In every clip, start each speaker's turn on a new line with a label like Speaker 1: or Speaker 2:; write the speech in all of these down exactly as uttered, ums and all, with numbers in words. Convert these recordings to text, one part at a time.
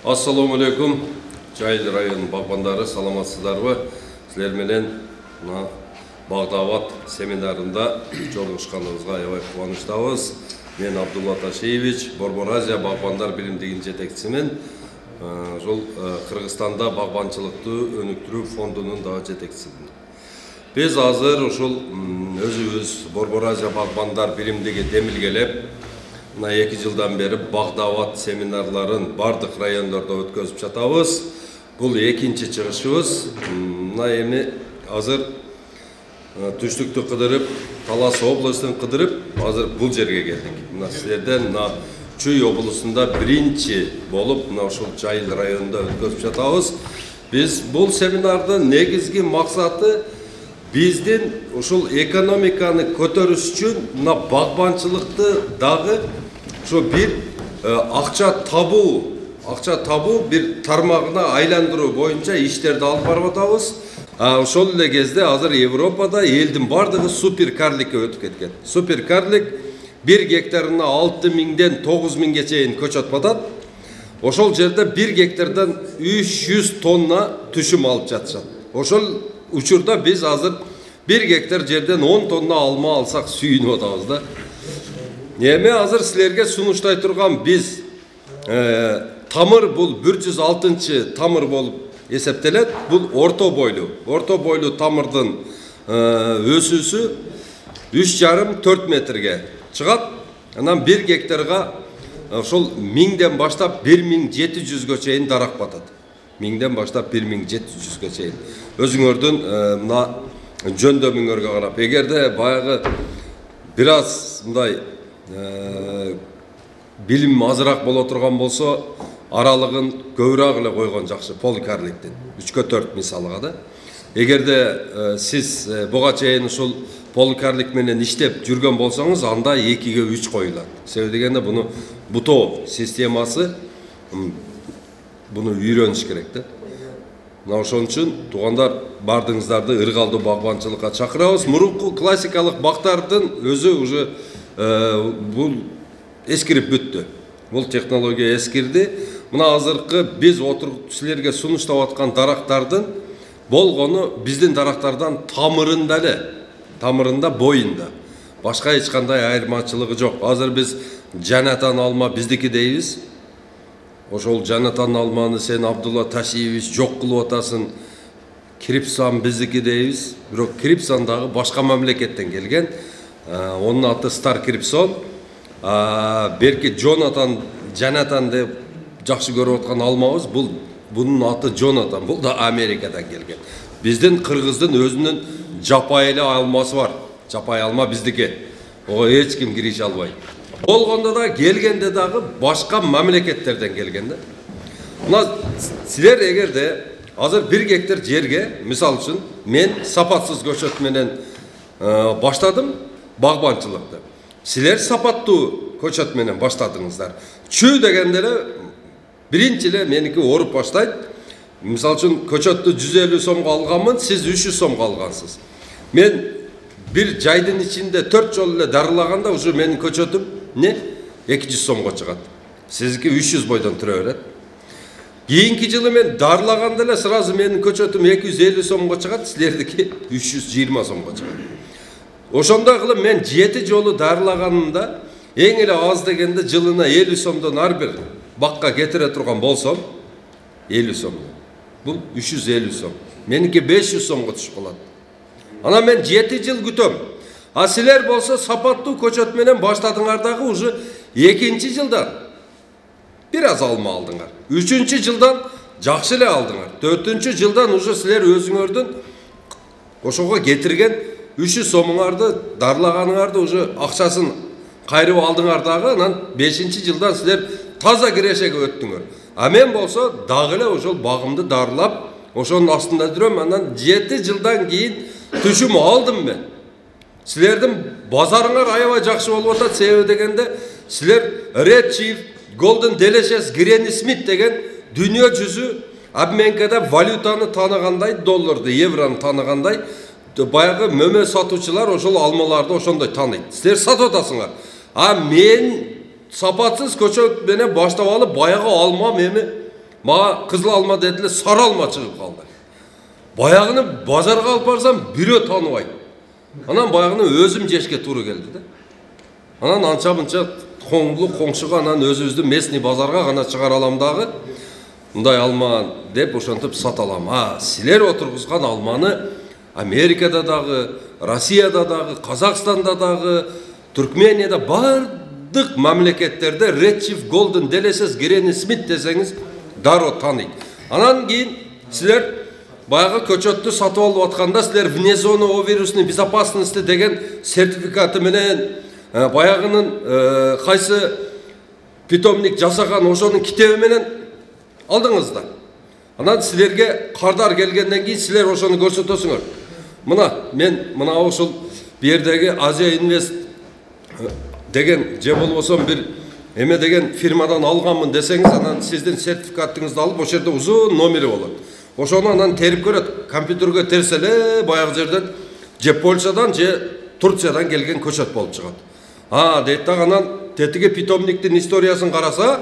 Speaker 1: Assalamu alaikum. Жайыл район багбандары, саламатсыздарбы? Силер менен Багдават семинарында жолугушканыбызга аябай кубанычтабыз. Мен Абдулла Ташиевич, Борбор-Азия багбандар биримдигинин жетекчисимин. Жол Кыргызстанда багбанчылыкты өнүктүрүү фондунун да жетекчисимин. Биз азыр ушул өзүбүз Борбор-Азия багбандар биримдиги демилгелеп, мына эки жылдан бери Багдават семинарларын бардык райондордо өткөзүп жатабыз. Бул экинчи чыгышыбыз. Мына эми азыр түштүктү кыдырып, Талас областын кыдырып, азыр бул жерге келдик. Мына силерден мына Чүй облусунда биринчи болуп, мына ушул Жайыл районунда өткөзүп жатабыз. Биз бул семинардын негизги максаты биздин ушул экономиканы көтөрүш үчүн мына багбанчылыкты дагы ошо бир акча табуу, акча табуу бир тармагына айландыруу боюнча иштерди алып барып атабыз. Ошол эле кезде азыр Европада элдин бардыгы суперкарликке өтүп кеткен. Суперкарлик бир гектарына алты миңден тогуз миңге чейин көчөт батат. Ошол жерде бир гектардан үч жүз тонна түшүм алып жатышат. Ошол учурда биз азыр бир гектар жерден он тонна алма алсак сүйүнүп атабыз да. Эми азыр силерге сунуштай турган биз тамыр бул бир жүз алтынчы тамыр болуп эсептелет. Бул орто бойлуу. Орто бойлуу тамырдын өсүүсү үч жарым төрт метрге чыгат. Анан бир гектарга ошол миңден баштап бир миң жети жүзгө чейин дарак батат. Миңден баштап бир миң жети жүзгө чейин. Өзүңөрдүн мына жөндөмүңөргө карап, эгерде баягы бир аз мындай билим азыраак боло турган болсо, аралыгын көбүрөөк эле койгон жакшы поликарликтин. үчкө төрт мисалга да. Эгерде сиз буга чейин ушул поликарлик менен иштеп жүргөн болсоңуз, анда экиге үч коюлат. Себеби дегенде буну бутоо системасы буну үйрөнүш керек да. Мына ошон үчүн туугандар бардыгыңыздарды ыргалдуу багбанчылыкка чакырабыз. Мурунку классикалык бактардын өзү уже бул эскирип бүттү. Бул технология эскирди. Мына азыркы биз отуруп силерге сунуштап аткан дарактардын болгону биздин дарактардан тамырында эле, тамырында, боюнда. Башка эч кандай айырмачылыгы жок. Азыр биз Жанатан алма биздики дейбиз. Ошол Жанатан алманы сен Абдулла Ташиевич жок кылып атасың. Крипсан биздики дейбиз. Бирок Крипсан дагы башка мамлекеттен келген. Онун аты Стар Крипсон. Берки Джонатан, Жанатан деп жакшы көрүп аткан алмабыз. Бул бунун аты Джонатан. Бул да Америкадан келген. Биздин кыргыздын өзүнүн жапай эле алмасы бар. Жапай алма биздики. Ого эч ким кирише албайт. Болгондо да келгенде дагы башка мамлекеттерден келген да. Мына силер эгерде азыр бир гектар жерге, мисал үчүн, мен сапатсыз көчөт менен баштадым багбанчылыкты. Силер сапаттуу көчөт менен баштадыңыздар. Чүй дегенде эле биринчи эле меники оруп баштайт. Мисал үчүн көчөттү жүз элүү сомго алганмын, сиз үч жүз сомго алгансыз. Мен бир жайдын ичинде төрт жолу эле дарылаганда уже менин көчөтүм не эки жүз сомго чыгат. Сиздики үч жүз бойдон түрө берет. Кийинки жылы мен дарылаганда эле сразу менин көчөтүм эки жүз элүү сомго чыгат, силердики үч жүз жыйырма сомго чыгат. Ошондой кылып мен жети жолу дарылаганымда эң эле аз дегенде жылына элүү сомдон ар бир бакка кетире турган болсом, элүү сом. Бул үч жүз элүү сом. Меники беш жүз сомго түшүп калат. Ана мен жети жыл күтөм. А силер болсо сапаттуу көчөт менен баштадыңар дагы уже экинчи жылдан бир аз алма алдыңар. Үчүнчү жылдан жакшы эле алдыңар. Төртүнчү жылдан уже силер өзүңөрдүн ошого кетирген үч жүз сомуңарды дарылаганыңарды уже акчасын кайрып алдыңар дагы, анан бешинчи жылдан силер таза кирешеге өттүңөр. А мен болсо дагы эле ошол багымды дарылап, ошонун астында жүрөм, анан жети жылдан кийин түшүм алдым мен. Силердин базарыңар аябай жакшы болуп атат. Себеби дегенде силер Red Chief, Golden Delicious, Granny Smith деген дүйнө жүзү обменкада валютаны тааныгандай, долларды, евроны тааныгандай, баягы мөмө сатуучулар ошол алмаларды ошондой тааныйт. Силер сатып атасыңар. А мен сапатсыз көчөт менен баштап алып баягы алма эми Мага кызыл алма дедилер, сары алма чыгып калды. Баягыны базарга алып барсам, бирөө тааныбайт. Анан баягыны өзүм жешке туура келди да. Анан анча-мынча коңлу коңшуга анан өзүбүздүн местный базарга гана чыгара алам дагы. Мындай алма деп ошентип сата алам. А силер отургузган алманы Америкада дагы, Россияда дагы, Казакстанда дагы, Түркменияда бардык мамлекеттерде Red Chief Golden делесез Гренни Смит десеңиз дароо тааныйт. Анан кийин силер баягы көчөттү сатып алып атканда силер вне зоны вирусной безопасности деген сертификаты менен баягынын кайсы питомник жасаган ошонун китеби менен алдыңыздар. Анан силерге кардар келгенден кийин силер ошону көрсөтөсүңөр. Мына мен мына ушул бу жердеги Азия Инвест деген же болбосо бир эме деген фирмадан алганмын десеңиз, анан сиздин сертификатыңызды алып ошол жерде узун номери болот. Ошону анан терип көрөт. Компьютерге терсе эле баягы жерден же Польшадан же Турциядан келген көчөт болуп чыгат. А дейт дагы анан тетиги питомниктин историясын караса,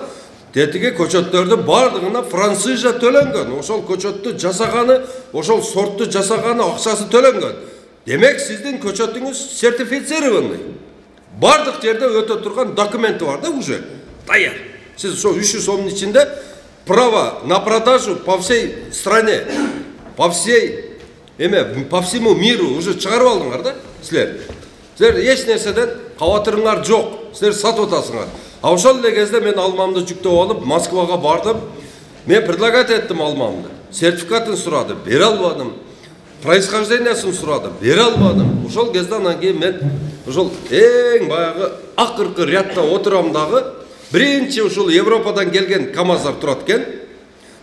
Speaker 1: тетиги көчөттөрдүн бардыгына французча төлөнгөн. Ошол көчөттү жасаганы, ошол сортту жасаганы акчасы төлөнгөн. Демек сиздин көчөтүңүз сертифицированный. Бардык жерде өтө турган документи бар да уже. Даяр. Сиз ошо үч жүз сомдун ичинде право на продажу по всей стране, по всей эме, по всему миру уже чыгарып алдыңар да силер. Силер эч нерседен кабатырыңар жок. Силер сатып атасыңар. А ошол эле кезде мен алмамды жүктөп алып Москвага бардым. Мен предлагать эттим алмамды. Сертификатын сурады, бере албадым. Происхождениясын сурады, бере албадым. Ошол кезде анан кийин мен ошол эң баягы акыркы рядда отурам дагы, биринчи ушул Европадан келген КамАЗдар турат экен.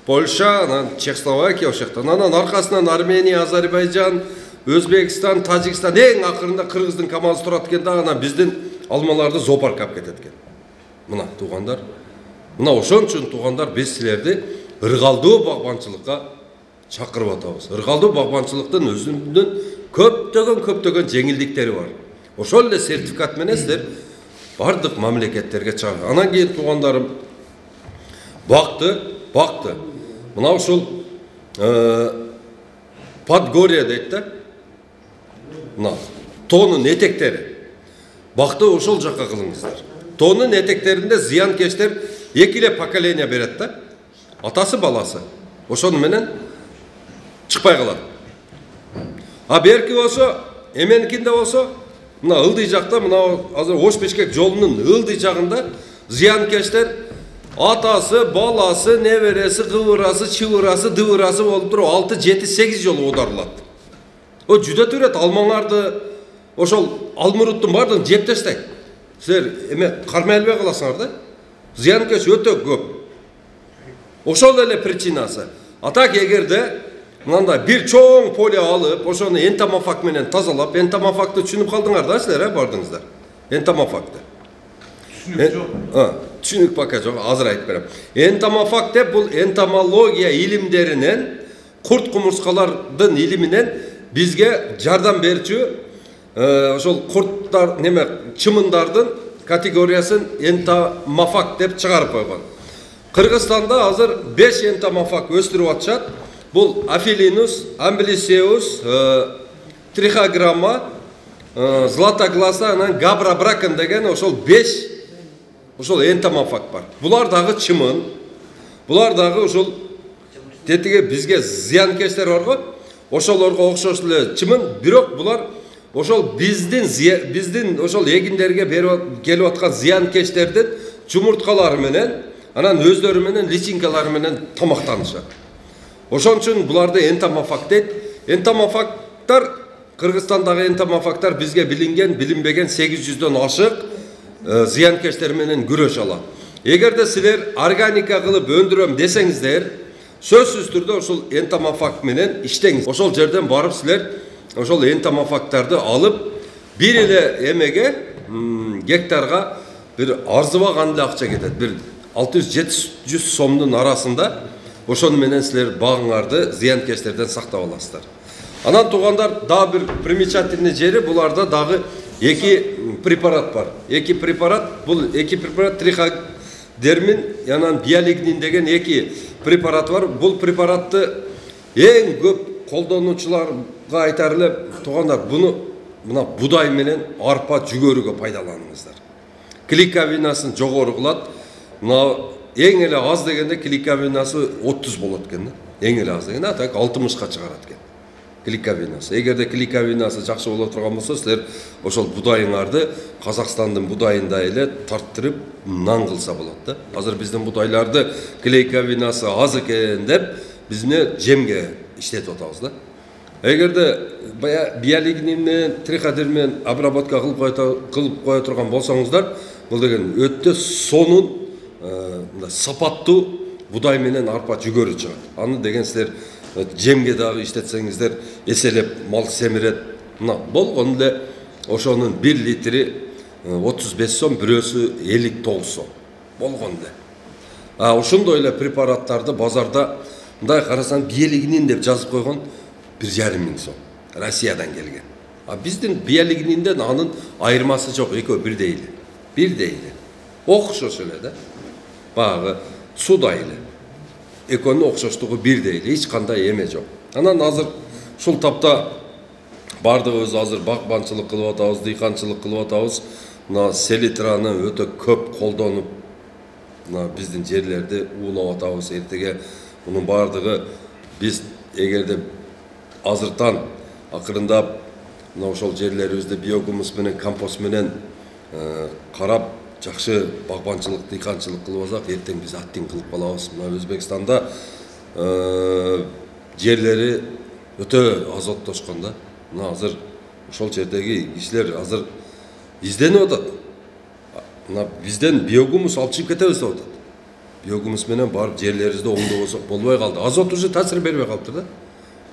Speaker 1: Польша, анан Чехословакия ошоктон. Анан аркасынан Армения, Азербайжан, Өзбекстан, Тажикстан, эң акырында Кыргыздын КамАЗы турат экен да, анан биздин алмаларды зоопаркка алып кетет экен. Мына туугандар, мына ошон үчүн туугандар биз силерди ыргалдуу багбанчылыкка чакырып атабыз. Ыргалдуу багбанчылыктын өзүнүн көптөгөн көптөгөн жеңилдиктери бар. Ошол эле сертификат менен силер бардык мамлекеттерге чыгат. Анан кийин туугандарым бакты, бакты. Мына ушул Подгорье дейт да. Мына тоонун этектери. Бакты ошол жакка кылыңыздар. Тоонун этектеринде зыянкечтер эки эле поколение берет да. Атасы баласы. Ошону менен чыкпай калат. А берки болсо, эменикинде болсо, мына ылдый жакта, мына азыр Ош-Бишкек жолунун ылдый жагында зыянкечтер атасы, баласы, небереси, кыбырасы, чыбырасы, дыбырасы болуп туруп алты, жети, сегиз жолу оодарылат. О жүдөтүп берет алмаңарды, ошол алмуруттун бардыгын жеп таштайт. Силер эме кармай албай каласыңар да. Зыянкеч өтө көп. Ошол эле причинасы. А так эгерде мындай бир чоң поле алып, ошону энтомофаг менен тазалап, энтомофагды түшүнүп калдыңар да силер, э, бардыңыздар. Энтомофагды. Түшүнүк жок. А, түшүнүк пока жок, азыр айтып берем. Энтомофаг деп бул энтомология илимдеринен, курт кумурскалардын илиминен бизге жардам берчү ошол курттар неме чымындардын категориясын энтомофаг деп чыгарып койгон. Кыргызстанда азыр беш энтомофаг өстүрүп атышат. Бул Афилинус, Амблисеус, Трихограмма, Златогласа, анан Габрабракен деген ошол беш ошол энтомофаг бар. Булар дагы чымын. Булар дагы ошол тетиге бизге зыянкечтер бар го. Ошолорго окшош эле чымын, бирок булар ошол биздин биздин ошол эгиндерге берип келип аткан зыянкечтердин чумурткалары менен, анан өздөрү менен личинкалары менен тамактанышат. Ошон үчүн буларды энтомофаг дейт. Энтомофагтар, Кыргызстандагы энтомофагтар бизге билинген, билинбеген сегиз жүздөн ашык зыянкечтер менен күрөш алат. Эгерде силер органика кылып өндүрөм десеңиздер, сөзсүз түрдө ошол энтомофаг менен иштеңиз. Ошол жерден барып силер ошол энтомофагтарды алып, бир эле эмеге гектарга бир арзыбаган эле акча кетет. Бир алты жүз жети жүз сомдун арасында ошону менен силер багыңарды зыянкечтерден сактап аласыздар. Анан туугандар, дагы бир примечательный жери, буларда дагы эки препарат бар. Эки препарат, бул эки препарат дермин анан биолигнин деген эки препарат бар. Бул препаратты эң көп колдонуучуларга айтар эле, туугандар, буну мына будай менен арпа жүгөрүгө пайдаланыңыздар. Клейковинасын жогору кылат. Мына эң эле аз дегенде клейковинасы отуз болот экен да. Эң эле аз дегенде так алтымышка чыгарат экен. Клейковинасы. Эгерде клейковинасы жакшы боло турган болсо, силер ошол будайыңарды Казакстандын будайындай эле тарттырып нан кылса болот да. Азыр биздин будайларды клейковинасы аз экен деп биз эмне жемге иштетип атабыз да. Эгерде бая биолигнин менен триходерм менен обработка кылып кое турган болсоңуздар, бул деген өтө сонун, сапаттуу будай менен арпа жүгөрү чыгат. Аны деген силер жемге дагы иштетсеңиздер эселеп мал семирет. Мына болгон эле ошонун бир литри отуз беш сом, бирөөсү элүү тогуз сом. Болгон эле. А ошондой эле препараттарды базарда мындай карасаң биолигнин деп жазып койгон бир жарым миң сом. Россиядан келген. А биздин биолигнинден анын айырмасы жок, экөө бирдей эле. Бирдей эле. Окшош эле да. Багы судай эле. Экөөнүн окшоштугу бирдей эле, эч кандай эме жок. Анан азыр ушул тапта бардыгыбыз азыр багбанчылык кылып атабыз, дыйканчылык кылып атабыз. Мына селитраны өтө көп колдонуп, мына биздин жерлерди уулап атабыз. Эртеге мунун бардыгы биз эгерде азыртан акырындап мына ошол жерлерибизди биогумус менен, компост менен карап жакшы багбанчылык, дыйканчылык кылып алсак, эртең биз аттин кылып калабыз. Мына Өзбекстанда жерлери өтө азоттошкон да. Мына азыр ошол жердеги кишилер азыр изденип атат. Мына бизден биогумус алып чыгып кетебиз деп атат. Биогумус менен барып жерлерибизди оңдобосок болбой калды. Азот уже таасир бербей калыптыр да.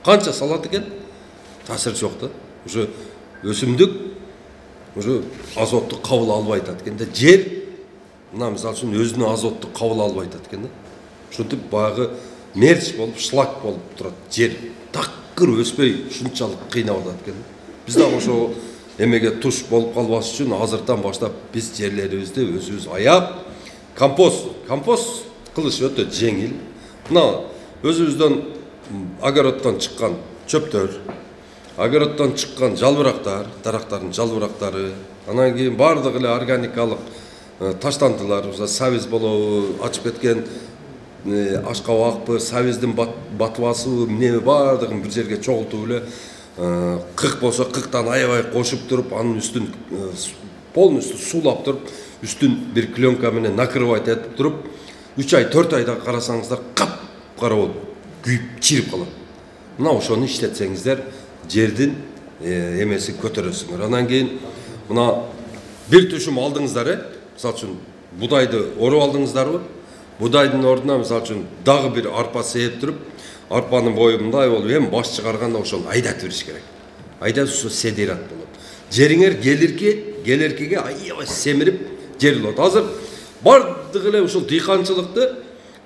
Speaker 1: Канча салат экен? Таасир жок да. Уже өсүмдүк уже азотту кабыл албай атат экен да. Жер мына мисалы үчүн өзүнүн азотту кабыл албай атат экен да. Ушинтип багы мерч болуп, шлак болуп турат. Жер такыр өспөй ушунчалык кыйнап атат экен. Биз дагы ошо эмеге туш болуп калбаш үчүн азыртан баштап биз жерлерибизди өзүбүз аяп компост, компост кылыш өтө жеңил. Мына өзүбүздөн огороддон чыккан чөптөр, огороддон чыккан жалбырактар, дарактардын жалбырактары, анан кийин бардык эле органикалык таштандылар, сабиз болобу, ачып кеткен ашкабакпы, сабиздин батыбасыбы, эмне бардыгын бир жерге чогултуп эле, кык болсо кыктан аябай кошуп туруп, анын үстүн полностью суулап туруп, үстүн бир пленка менен накрывать этип туруп, үч ай, төрт айда карасаңыздар кап-кара болуп күйүп чирип калат. Мына ошону иштетсеңиздер, жердин эмесин көтөрөсүңөр. Анан кийин мына бир түшүм алдыңыздар, э? Мисалы үчүн будайды оруп алдыңыздарбы? Будайдын ордуна мисалы үчүн дагы бир арпа сээп туруп, арпанын бою мындай болуп, эми баш чыгарганда ошону айдатып бериш керек. Айдап ошо седират болот. Жериңер келирки, келеркиге аябай семирип жер болот. Азыр бардык эле ушул дыйканчылыкты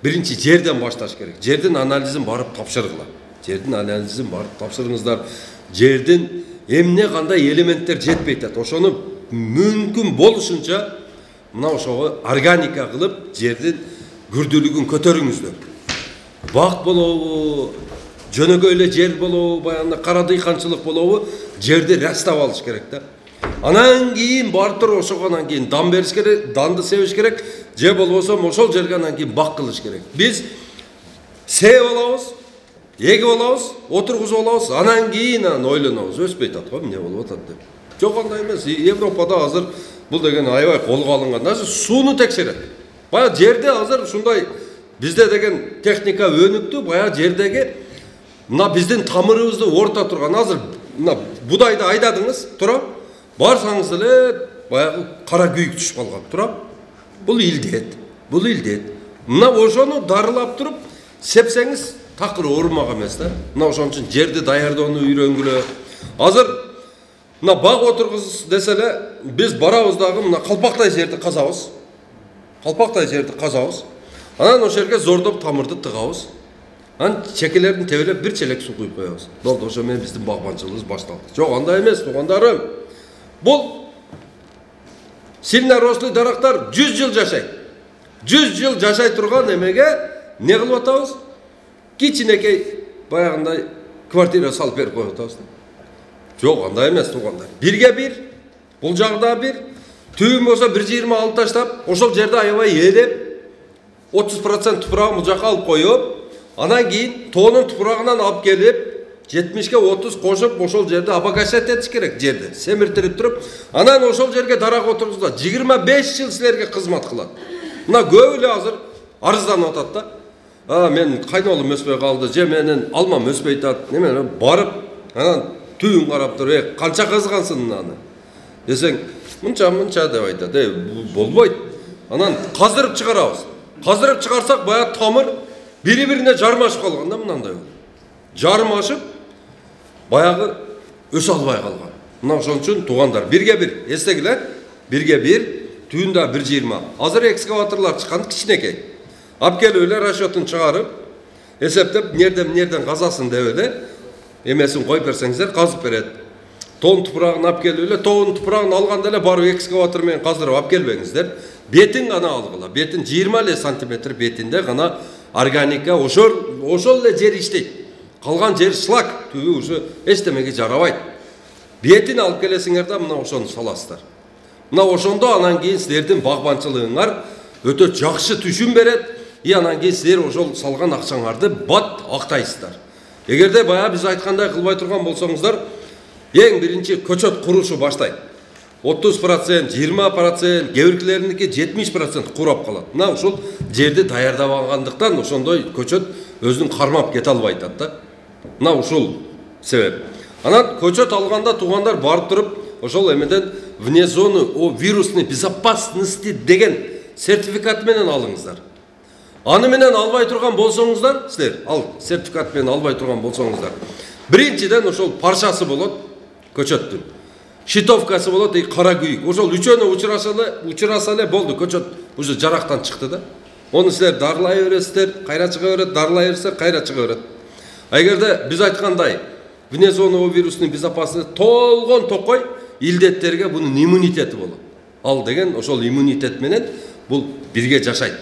Speaker 1: биринчи жерден башташ керек. Жердин анализин барып тапшыргыла. Жердин анализин барып тапшырыңыздар. Жердин эмне кандай элементтер жетпей атат. Ошону мүмкүн болушунча мына ошого органика кылып жердин күрдүүлүгүн көтөрүңүздөр. Бак болобу, жөнөкөй эле жер болобу, баягы кара дыйканчылык болобу, жерди растап алыш керек да. Анан кийин барып туруп ошогонан кийин дан бериш керек, данды себиш керек, же болбосо ошол жерге анан кийин бак кылыш керек. Биз сээп алабыз, эгип алабыз, отургузуп алабыз, анан кийин анан ойлонобуз, өспөй атат го, эмне болуп атат деп. Жок, андай эмес. Европада азыр бул деген аябай колго алынган. Даже сууну текшерет. Баягы жерде азыр ушундай бизде деген техника өнүктү, баягы жердеги мына биздин тамырыбызды орта турган, азыр мына будайды айдадыңыз, тура. Барсаңыз эле баягы кара күйүк түшүп калган, тура. Бул илдет, бул илдет. Мына ошону дарылап туруп сепсеңиз такыр оорумак эмес да. Мына ошон үчүн жерди даярдоону үйрөнгүлө. Азыр мына баг отургуз десе эле биз барабыз дагы мына калпактай жерди казабыз. Калпактай жерди казабыз. Анан ошол жерге зордоп тамырды тыгабыз. Анан чекелерин тебелеп бир челек суу куюп коебуз. Болду, ошо менен биздин багбанчылыгыбыз башталды. Жок, андай эмес, туугандарым. Бул сильно рослый дарактар жүз жыл жашайт. жүз жыл жашай турган эмеге не кылып атабыз? Кичинекей баягындай квартира салып берип коюп атабыз. Жок, андай эмес туугандар. Бирге бир, бул жагда бир, түбүн болсо бир жыйырма алып таштап, ошол жерде аябай ээлеп, отуз процент тупурагын бул жака алып коюп, анан кийин тоонун тупурагынан алып келип, жетимишке отуз кошуп, ошол жерде обогащать этиш керек жерди. Семиртирип туруп, анан ошол жерге дарак отургузат. жыйырма беш жыл силерге кызмат кылат. Мына көп эле азыр арызданып атат да. А, мен кайнолум өспөй калды, же менин алмам өспөй атат. Неме барып, анан түйүн карап туруп, "Э, канча кызгансың аны?" десең, "Мынча, мынча" деп айтат. "Э, болбойт." Анан каздырып чыгарабыз. Каздырып чыгарсак, баягы тамыр бири-бирине жармашып калган да, мынандай болот. Жармашып, баягы өсө албай калган. Мына ошон үчүн туугандар, бирге бир, эстегиле, бирге бир, түйүндө бир жыйырма. Азыр экскаваторлор чыккан кичинекей. Алып келип эле расчетун чыгарып, эсептеп, нерден нерден казасын деп эле, эмесин коюп берсеңиздер, казып берет. Тоон тупурагын алып келип эле, тоонун тупурагын алганда эле барып экскаватор менен каздырып алып келбеңиздер. Бетин гана алгыла. Бетин жыйырма эле сантиметр бетинде гана органика, ошол ошол эле жер иштейт. Калган жер шлак, түбү уже эчтемеге жарабайт. Бетин алып келесиңер да, мына ошону саласыздар. Мына ошондо анан кийин силердин багбанчылыгыңар өтө жакшы түшүм берет. И анан кийин силер ошол салган акчаңарды бат актайсыздар. Эгерде баягы биз айткандай кылбай турган болсоңуздар, эң биринчи көчөт курушу баштайт. отуз процент, жыйырма процент, кээ биркилериники жетимиш процент курап калат. Мына ушул жерди даярдабагандыктан ошондой көчөт өзүн кармап кете албай атат да. Мына ушул себеп. Анан көчөт алганда туугандар барып туруп, ошол эмеден вне зоны о вирусной безопасности деген сертификат менен алыңыздар. Аны менен албай турган болсоңуздар, силер ал сертификат менен албай турган болсоңуздар, биринчиден ошол парчасы болот көчөттүн. Щитовкасы болот, и кара күйүк. Ошол үчөөнө учураса эле, учураса эле болду, көчөт уже жарактан чыкты да. Оны силер дарылай бересиздер, кайра чыга берет, дарылай берсе, кайра чыга берет. А эгерде биз айткандай, вне зоны вирусный безопасность толгон токой илдеттерге бунун иммунитети болот. Ал деген ошол иммунитет менен бул бирге жашайт.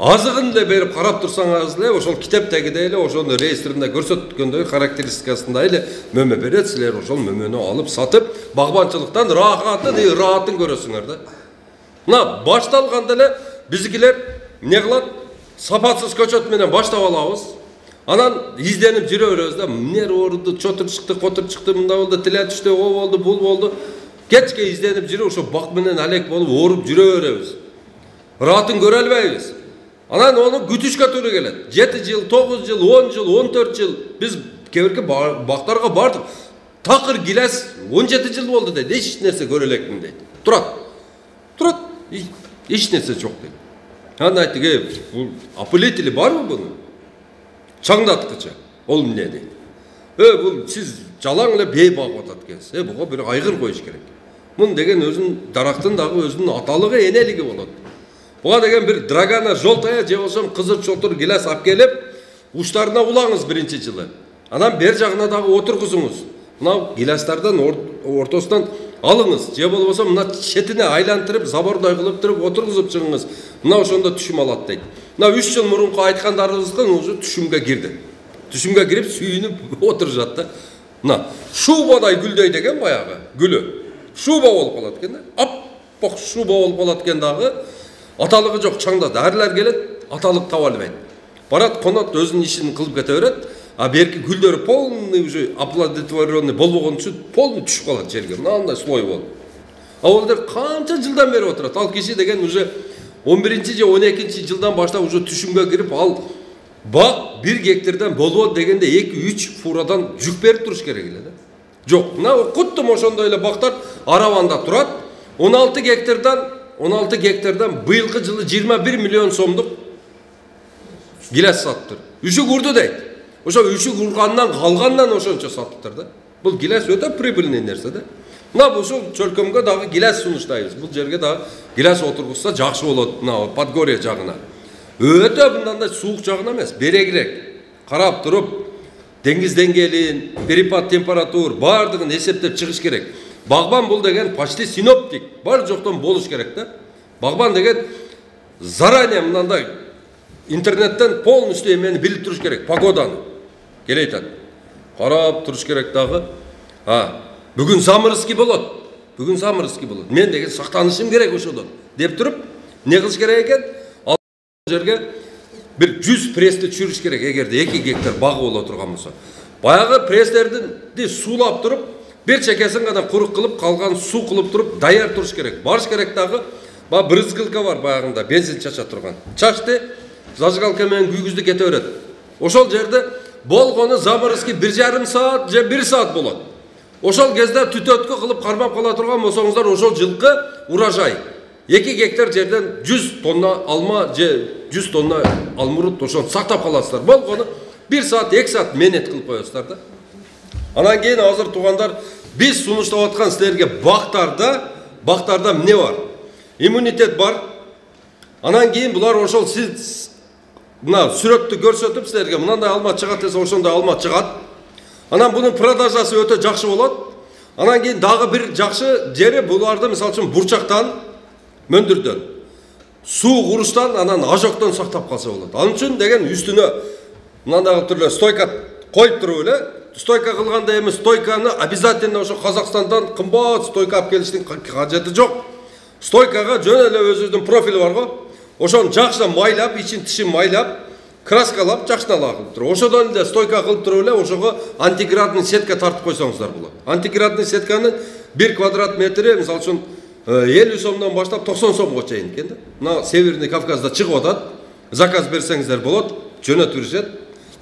Speaker 1: Азыгын да берип карап турсаңыз эле, ошол китептегидей эле, ошону реестринде көрсөткөндөй характеристикасында эле мөмө берет, силер ошол мөмөнү алып сатып, багбанчылыктан рахатын, ыраатын көрөсүңөр да. Мына башталганда эле биздикилер эмне кылат? Сапатсыз көчөт менен баштап алабыз. Анан изденип жүрө беребиз да, эмне орду, чотур чыкты, котур чыкты, мында болду, тиле түштү, о болду, бул болду. Кечке изденип жүрүп, ошо бак менен алек болуп, ооруп жүрө беребиз. Ыраатын көрө албайбыз. Анан onu күтүшкө туура келет. жети жыл, тогуз жыл, он жыл, он төрт жыл биз кебирки бактарга бардык. Такыр гилес он жети жыл болду дейт. Эч нерсе көрө элекмин дейт. Турат. Турат. Эч нерсе жок дейт. Анан айттык, "Э, бул опылители барбы бунун? Чаңдаткыча. Ол эмне дейт. Э, бул сиз жалаң эле бей багып атат экенсиз. Э, буга бир айгыр коюш керек. Мун деген өзүнүн дарактын дагы өзүнүн аталыгы, энелиги болот. Буга деген бир драгана жолтая же болсо кызыл чотур гилес алып келип, уштарына улаңыз биринчи жылы. Анан бер жагына дагы отургузуңуз. Мына гилестардан ортосунан алыңыз, же болбосо мына четине айлантырып, забордой кылып туруп отургузуп чыгыңыз. Мына ошондо түшүм алат дейт. Мына үч жыл мурунку айткандарыбыздын уже түшүмгө кирди. Түшүмгө кирип сүйүнүп отурушат да. Мына шубадай гүлдөйт экен баягы, гүлү. Шуба болуп калат экен да. Аппак шуба болуп калат экен дагы. Аталыгы жок, чаңда дәрилер келет, аталык таба албайт. Барат, конот өзүнүн ишин кылып кете берет. А берки гүлдөрү полный уже оплодотворенный болбогон үчүн полный түшүп калат жерге. Мындай слой болуп. А ол дер канча жылдан бери отурат. Ал киши деген уже он биринчи же он экинчи жылдан баштап уже түшүмгө кирип, ал бак бир гектардан болбойт дегенде эки үч фурадан жүк берип туруш керек эле да. Жок, мына куттум ошондой эле бактар Араванда турат. он алты гектардан он алты гектардан быйылкы жылы жыйырма бир миллион сомдук гилес саттыр. Үшү курду дейт. Ошо үшү кургандан калгандан ошончо саттыптыр да. Бул гилес өтө прибыльный нерсе да. Мына ушул чөлкөмгө дагы гилес сунуштайбыз. Бул жерге дагы гилес отургузса жакшы болот, мына Подгорье жагына. Өтө мындандай суук жагына эмес, берегирээк карап туруп, деңиз деңгээлин, перепад температур бардыгын эсептеп чыгыш керек. Багбан бул деген почти синоптик, бар жоктон болуш керек да. Багбан деген заранее мынандай интернеттен полностью эмени билип туруш керек, погоданы. Келе айтат. Карап туруш керек дагы. А, бүгүн заморозки болот. Бүгүн заморозки болот. Мен деген сактанышым керек ошодон деп туруп, не кылыш керек экен? Ал жерге бир жүз прести түшүрүш керек, эгерде эки гектар багы боло турган болсо. Баягы престерди суулап туруп, бир чекесин гана курук кылып, калган суу кылып туруп, даяр туруш керек. Барыш керек дагы. Ба брызгылка бар баягында, бензин чача турган. Чачты, зажигалка менен күйгүздү кете берет. Ошол жерде болгону заморозки бир жарым саат же бир саат болот. Ошол кезде түтөткө кылып кармап кала турган болсоңуздар, ошол жылкы урожай эки гектар жерден жүз тонна алма же жүз тонна алмурут ошону сактап каласыздар. Болгону бир саат, эки саат менет кылып коесуздар да. Анан кийин азыр туугандар, биз сунуштап аткан силерге бактарда, бактарда эмне бар? Иммунитет бар. Анан кийин булар ошол сиз мына сүрөттү көрсөтүп силерге мындай алма чыгат десе ошондой алма чыгат. Анан бунун продажасы өтө жакшы болот. Анан кийин дагы бир жакшы жери буларды мисалы үчүн бурчактан, мөндүрдөн, суу куруштан, анан ажоктон сактап калса болот. Ал үчүн деген үстүнө мындай түрдө стойка коюп туруп эле, стойка кылганда эми стойканы обязательно ошо Казакстандан кымбат стойка алып келиштин кажети жок. Стойкага жөн эле өзүнүн профили бар го. Ошону жакшынан майлап, ичин тишин майлап, краскалап, жакшынан кылып туруп. Ошодон эле стойка кылып туруп эле ошого антиградный сетка тартып койсоңуздар болот. Антиградный сетканын бир квадрат метри мисалы үчүн элүү сомдон баштап токсон сомго чейин экен да. Мына Северный Кавказда чыгып атат. Заказ берсеңиздер болот, жөнөтүп беришет.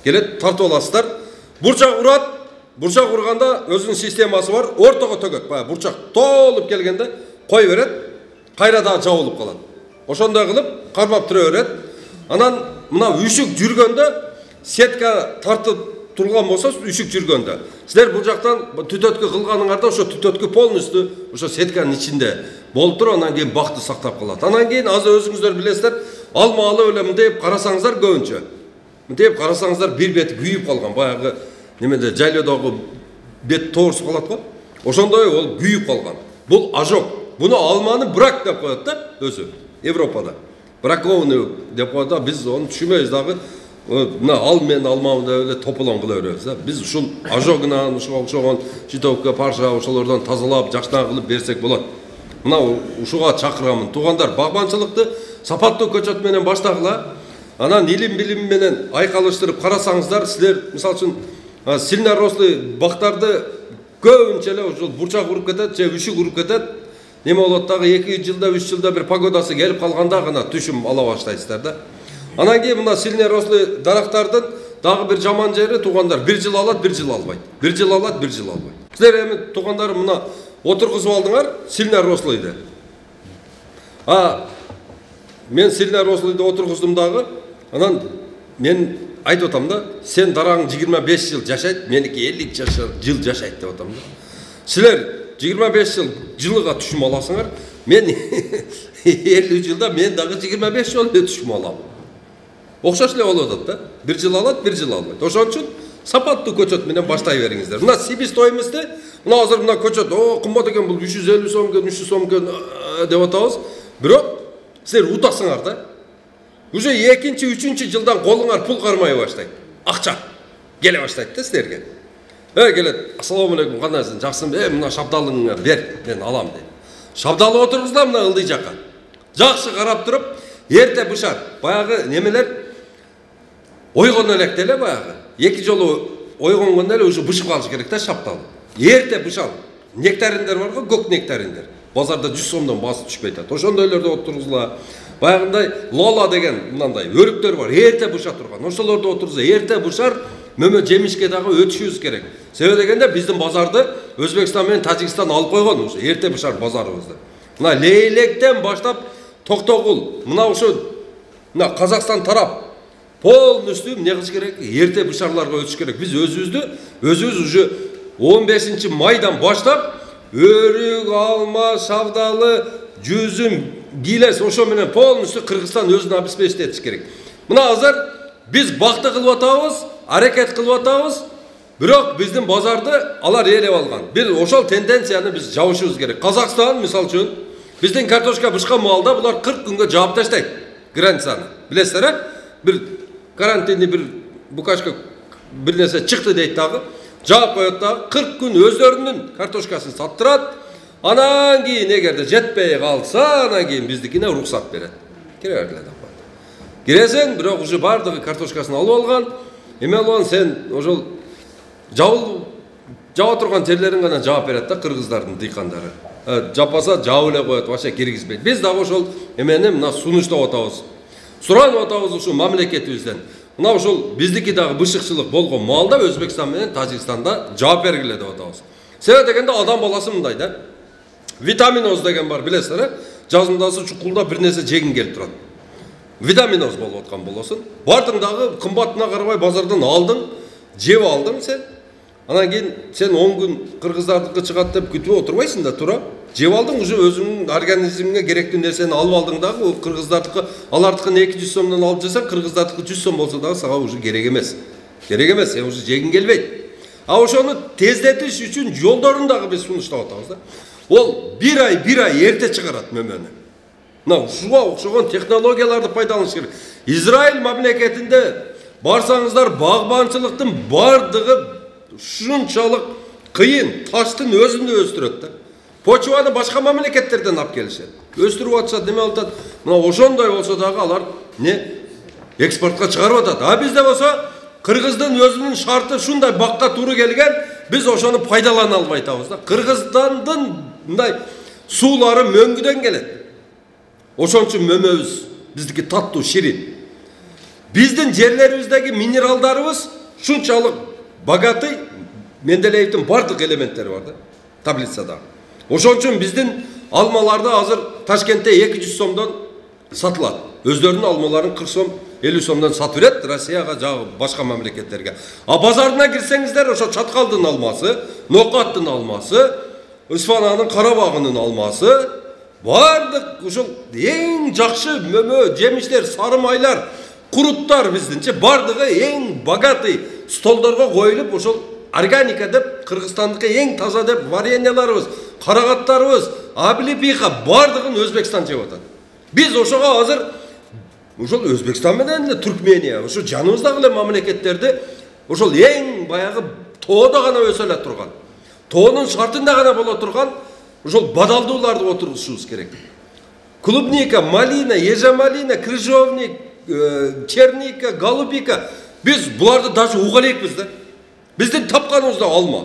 Speaker 1: Келет, тартып аласыздар. Бурчак урат. Бурчак урганда өзүнүн системасы бар. Ортого төгөт. Баягы бурчак толуп келгенде кой берет. Кайра дагы жабылып калат. Ошондой кылып кармап тура берет. Анан мына үшүк жүргөндө сетка тартып турган болсо, үшүк жүргөндө силер бул жактан түтөткө кылганыңарда ошо түтөткө полностью ошо сетканын ичинде болуп туруп, анан кийин бакты сактап калат. Анан кийин азыр өзүңүздөр билесиздер, алма алып эле мынтип карасаңыздар көбүнчө. Мынтип карасаңыздар бир бети күйүп калган, баягы немеде жайлоодогу бет тоорсуп калат го. Ошондой ол күйүп калган. Бул ожог. Буну алманы брак деп коет да өзү Европада. Бракованный деп коет да, биз аны түшүнбөйбүз дагы. Мына ал менен алманы деп эле тополон кыла беребиз да. Биз ушул ожогунан ушуга окшогон читовка, парша ошолордон тазалап, жакшынан кылып берсек болот. Мына ушуга чакырамын. Туугандар, багбанчылыкты сапаттуу көчөт менен баштагыла. Анан илим билим менен айкалыштырып карасаңыздар, силер мисалы үчүн сильнорослый бактарды көбүнчө эле ушул бурчак уруп кетет же үшүк уруп кетет. Неме болот дагы эки жылда, үч жылда бир погодасы келип калганда гана түшүм ала баштайсыздар да. Анан кийин мына сильнорослый дарактардын дагы бир жаман жери, туугандар, бир жыл алат, бир жыл албайт. Бир жыл алат, бир жыл албайт. Силер эми туугандар мына отургузуп алдыңар сильнорослыйды. А мен сильнорослыйды отургуздум дагы. Анан мен айтып атам да, сен дараң жыйырма беш жыл жашайт, меники элүү жыл жашайт деп атам да. Силер жыйырма беш жыл жылыга түшүм аласыңар. Мен элүү жылда мен дагы жыйырма беш жыл түшүм алам. Окшош эле болуп атат да. Бир жыл алат, бир жыл албайт. Ошон үчүн сапаттуу көчөт менен баштай бериңиздер. Мына себестоимости, мына азыр мына көчөт, о, кымбат экен, бул үч жүз элүү сом экен, үч жүз сом экен деп атабыз. Бирок силер утасыңар да. Уже экинчи, үчүнчү жылдан колуңар пул кармай баштайт. Акча келе баштайт да силерге. Э, келет, ассаламу алейкум, кандайсың, жакшысың? Э, мына шабдалыңа бер, мен алам дейт. Шабдалы отургузда мына ылдый жака. Жакшы карап туруп, эрте бышар. Баягы немелер ойгон электе эле баягы. Эки жолу ойгонгондо эле уже бышып калыш керек да шабдал. Эрте бышал. Нектариндер бар го, көк нектариндер. Базарда жүз сомдон басы түшпөй атат. Ошондойлорду отургузула. Баягындай лола деген мындай өрүктөр бар, эрте быша турган. Ошолорду отургуза, эрте бышар, мөмө жемишке дагы өтүшүбүз керек. Себеби дегенде биздин базарды Өзбекстан менен Тажикстан алып койгон уже эрте бышар базарыбызды. Мына Лейлектен баштап Токтогул, мына ошо мына Казакстан тарап полностью эмне кылыш керек? Эрте бышарларга өтүш керек. Биз өзүбүздү өзүбүз уже он бешинчи майдан баштап өрүк, алма, шабдалы, жүзүм, гилес ошо менен полностью Кыргызстан өзүн обеспечить керек. Мына азыр биз бакты кылып атабыз, аракет кылып атабыз. Бирок биздин базарды алар ээлеп алган. Бир ошол тенденцияны биз жабышыбыз керек. Казакстан мисалы үчүн биздин картошка бышкан маалда булар кырк күнгө жаап таштайт. границаны. Билесиздер, э? Бир карантинди бир букашка бир нерсе чыкты дейт дагы. Жаап коет дагы кырк күн өздөрүнүн картошкасын саттырат. Анан кийин эгерде жетпей калса, анан кийин биздикине уруксат берет. Кире бергиле деп коет. Киресең, бирок уже бардыгы картошкасын алып алган. Эме алган, сен ошол жабыл жаба турган жерлерин гана жаап берет да кыргыздардын дыйкандары. Жапаса жаап эле коет, вообще киргизбейт. Биз дагы ошол эмени мына сунуштап атабыз. Суранып атабыз ушул мамлекетибизден. Мына ошол биздики дагы бышыкчылык болгон маалда Өзбекстан менен Тажикстанда жаап бергиле деп атабыз. Себеби дегенде адам баласы мындай да. Витаминоз деген бар, билесиздер, э? Жазындасы чукулда бир нерсе жегин келип турат. Витаминоз болуп аткан болосун. Бардың дагы кымбатына карабай базардан алдың, жеп алдың сен. Анан кийин сен он күн кыргыздардыкы чыгат деп күтүп отурбайсың да, тура. Жеп алдың, уже өзүңүн организмиңе керектүү нерсени алып алдың дагы, ол кыргыздардыкы, алардыкын эки жүз сомдон алып жесең, кыргыздардыкы жүз сом болсо дагы сага уже керек эмес. Керек эмес, сен уже жегин келбейт. А ошону тездетиш үчүн жолдорун дагы биз сунуштап атабыз да. Ол бир ай, бир ай эрте чыгарат мөмөнү. Мына ушуга окшогон технологияларды пайдаланыш керек. Израиль мамлекетинде барсаңыздар, багбанчылыктын бардыгы ушунчалык кыйын, таштын өзүндө өстүрөт да. Почваны башка мамлекеттерден алып келишет. Өстүрүп атышат, неме атат. Мына ошондой болсо дагы алар не экспортко чыгарып атат. А бизде болсо кыргыздын өзүнүн шарты шундай бакка туура келген, биз ошону пайдалана албай атабыз да. Кыргызстандын мындай суулары мөңгүдөн келет. Ошон үчүн мөмөбүз биздики таттуу, ширин. Биздин жерлерибиздеги минералдарыбыз шунчалык богатый, Менделеевдин бардык элементтери бар да, таблицада. Ошон үчүн биздин алмаларды азыр Ташкентте эки жүз сомдон сатылат. Өздөрүнүн алмаларын кырк сом, элүү сомдон сатып берет Россияга, жагы башка мамлекеттерге. А базарына кирсеңиздер, ошо Чаткалдын алмасы, Нокаттын алмасы, Исфананын Карабагынын алмасы, бардык ушул эң жакшы мөмө, жемиштер, сары майлар, куруттар биздинче бардыгы эң богатый столдорго коюлуп, ошол органика деп, Кыргызстандыкы эң таза деп вареньяларыбыз, карагаттарыбыз, аблипиха бардыгын Өзбекстан жеп атат. Биз ошого азыр ошол Өзбекстан менен эле Түркмения, ошо жаныбыздагы эле мамлекеттерди ошол эң баягы тоодо гана өсө эле турган, тоонун шартында гана боло турган ошол бадалдууларды отургузушубуз керек. Клубника, малина, ежемалина, крыжовник, черника, голубика. Биз буларды даже уга элекпиз да. Биздин тапканыбызда алма.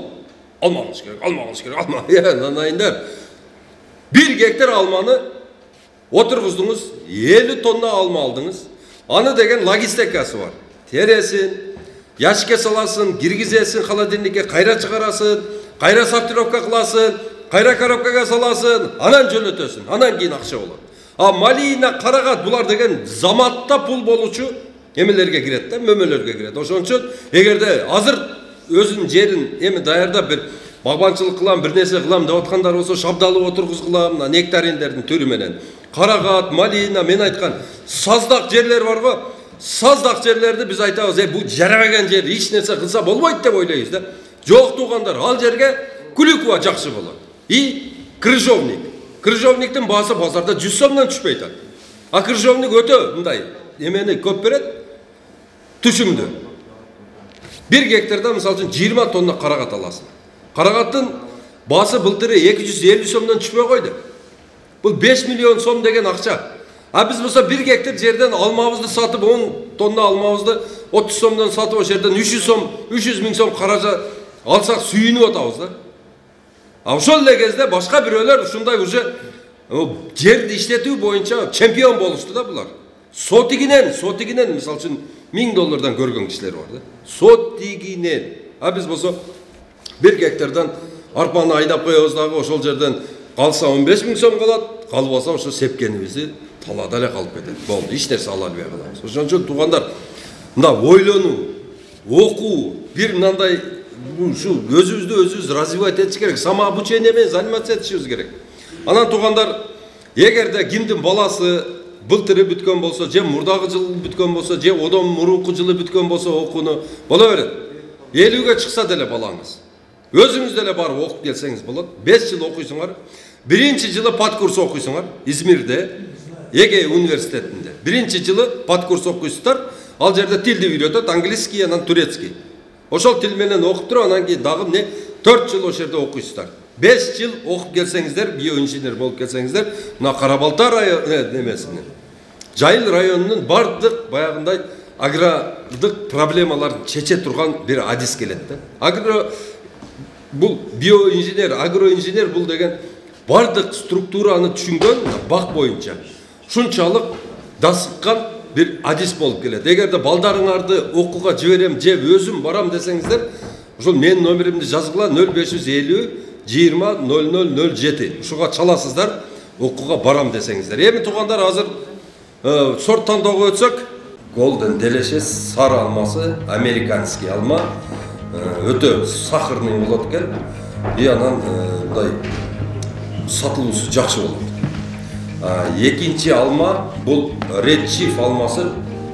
Speaker 1: Алмаңыз керек, алмаңыз керек, алма. Нанайындар. Бир гектар алманы отургуздуңуз, элүү тонна алма алдыңыз. Аны деген логистикасы бар. Тересин, яшикке саласың, киргизесиң холодильникке, кайра чыгарасын, кайра сортировка кыласың, кайра коробкага саласың, анан жөнөтөсүн, анан кийин акча болот. А малина, карагат булар деген заматта пул болучу эмелерге кирет да, мөмөлөргө кирет. Ошон үчүн эгерде азыр өзүнүн жерин эми даярдап бир багбанчылык кылам, бир нерсе кылам деп аткандар болсо, шабдалы отургузгула, мына нектариндердин түрү менен. Карагат, малина, мен айткан саздак жерлер бар го. Саздак жерлерди биз айтабыз, э, бул жарабаган жер, эч нерсе кылса болбойт деп ойлойбуз да. Жок туугандар, ал жерге Куликова жакшы болот. И крыжовник. Крыжовниктин баасы базарда жүз сомдон түшпөй атат. А крыжовник өтө мындай эмени көп берет, түшүмдү. Бир гектарда мисалы үчүн жыйырма тонна карагат аласың. Карагаттын баасы былтыры эки жүз элүү сомдон түшпөй койду. Бул беш миллион сом деген акча. А биз болсо бир гектар жерден алмабызды сатып, он тонна алмабызды отуз сомдон сатып, о жерден үч жүз сом, үч жүз миң сом каража алсак сүйүнүп атабыз да. А ошол эле кезде башка бирөөлөр ушундай уже жерди иштетүү боюнча чемпион болушту да булар. Сотигинен, сотигинен мисалы үчүн миң доллардан көргөн кишилер бар да. Сотигинен. А биз болсо бир гектардан арпаны айдап коебуз дагы, ошол жерден калса он беш миң сом калат, калбаса ошо сепкенибизди талаада эле калып кетет. Болду, эч нерсе ала албай калабыз. Ошон үчүн туугандар, мында ойлонуу, окуу, бир мындай ушу өзүбүздү өзүбүз развивать этиш керек, самообучение менен заниматься этишибиз керек. Анан туугандар, эгерде кимдин баласы былтыры бүткөн болсо, же мурдагы жыл бүткөн болсо, же одон мурунку жылы бүткөн болсо окууну боло берет. элүүгө чыкса деле балаңыз, өзүңүз деле барып окуп келсеңиз болот. беш жыл окуйсуңар. Биринчи жылы пат курс окуйсуңар Измирде. Эге университетинде. Биринчи жылы подкурс окуйсуздар. Ал жерде тилди үйрөтөт, английский, анан турецкий. Ошол тил менен окуп туруп, анан кийин дагы эмне төрт жыл ошол жерде окуйсуздар. беш жыл окуп келсеңиздер, биоинженер болуп келсеңиздер, мына Кара Балта району немесинен, Жайыл районунун бардык баягындай агрардык проблемаларын чече турган бир адис келет да. Агро бул биоинженер, агроинженер бул деген бардык структураны түшүнгөн бак боюнча шунчалык дасыккан бир адис болуп келет. Эгерде балдарыңарды окууга жиберем же өзүм барам десеңиздер, ошол менин номеримди жазгыла нөл беш жүз элүү жыйырма нөл нөл нөл жети. Ушуга чаласыздар, окууга барам десеңиздер. Эми туугандар, азыр сорт тандоого өтсөк, Golden Delicious сары алмасы, американский алма, өтө сахарный болот экен. И анан мындай сатылуусу жакшы болот. Экинчи алма бул Red Chief алмасы,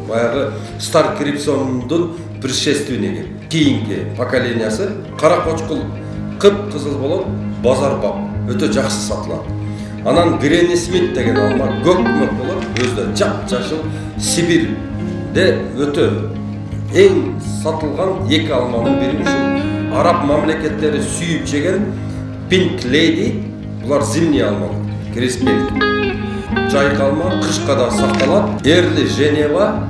Speaker 1: баягы Star Crimson'дун предшественниги, кийинки поколениясы. Кара кочкул кып-кызыл болот, базар бап, өтө жакшы сатылат. Анан Granny Smith деген алма көк-мөк болот, өзү жап-жашыл Сибирде өтө эң сатылган эки алманын бири ушул араб мамлекеттери сүйүп жеген Pink Lady, булар зимний алма, креспель. Жайык алма кышка да сакталат. Эрли Женева,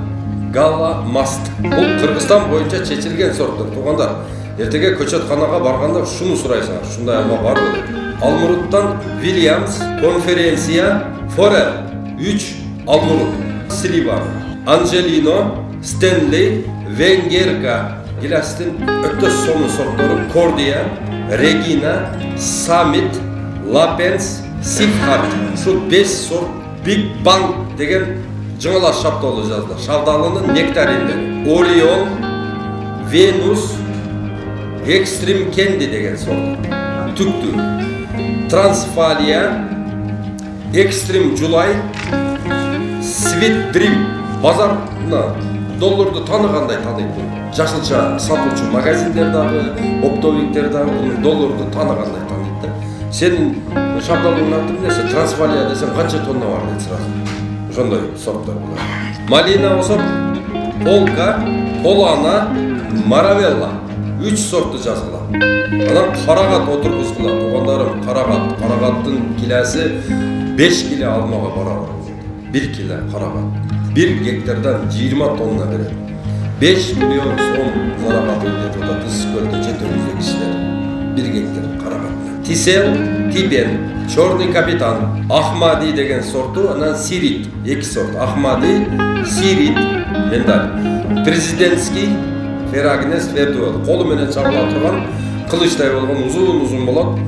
Speaker 1: Гала Маст. Бул Кыргызстан боюнча чечилген сорттор. Туугандар, эртеге көчөтканага барганда шуну сурайсыңар, ушундай алма барбы деп. Алмуруттан Williams, Конференция, Форел, үч алмурут, Слива, Анжелино, Стенли, Венгерка, гиластын өтө сонун сорттору Кордия, Регина, Саммит, Лапенс, Сифхарт. Ушул беш сорт Big Bang деген жаңылаш шапталы жазды. Шавдалынын нектариндери. Орион, Венус, Extreme Candy деген сорт. Түктү. Трансфалия, Extreme July, Sweet Dream. Базарна долларды таныгандай таныйт. Жашылча сатуучу магазиндер дагы, оптовиктер дагы долларды таныгандай таныйт да. Сенин шабдалыңдын аты эмнеси? Трансфалия десем канча тонна бар дейт сразу. Ошондой сорттор булар. Малина болсо Полка, Полана, Маравелла. үч сорту жазгыла. Анан карагат отургузгула. Туугандарым, карагат, карагаттын килеси беш кило алмага барабар. бир кило карагат. бир гектардан жыйырма тонна берет. беш миллион сом зарабат өйдөп атат Ысык-Көлдө жетөөбүздө кишилер. бир гектар карагат. Тисел, Тибен, Черный капитан, Ахмади деген сорту, анан Сирит, эки сорт. Ахмади, Сирит, ендер. Президентский, Ферагнес, Фердуэл. Колу менен чабыла турган, кылычтай болгон узун-узун болот.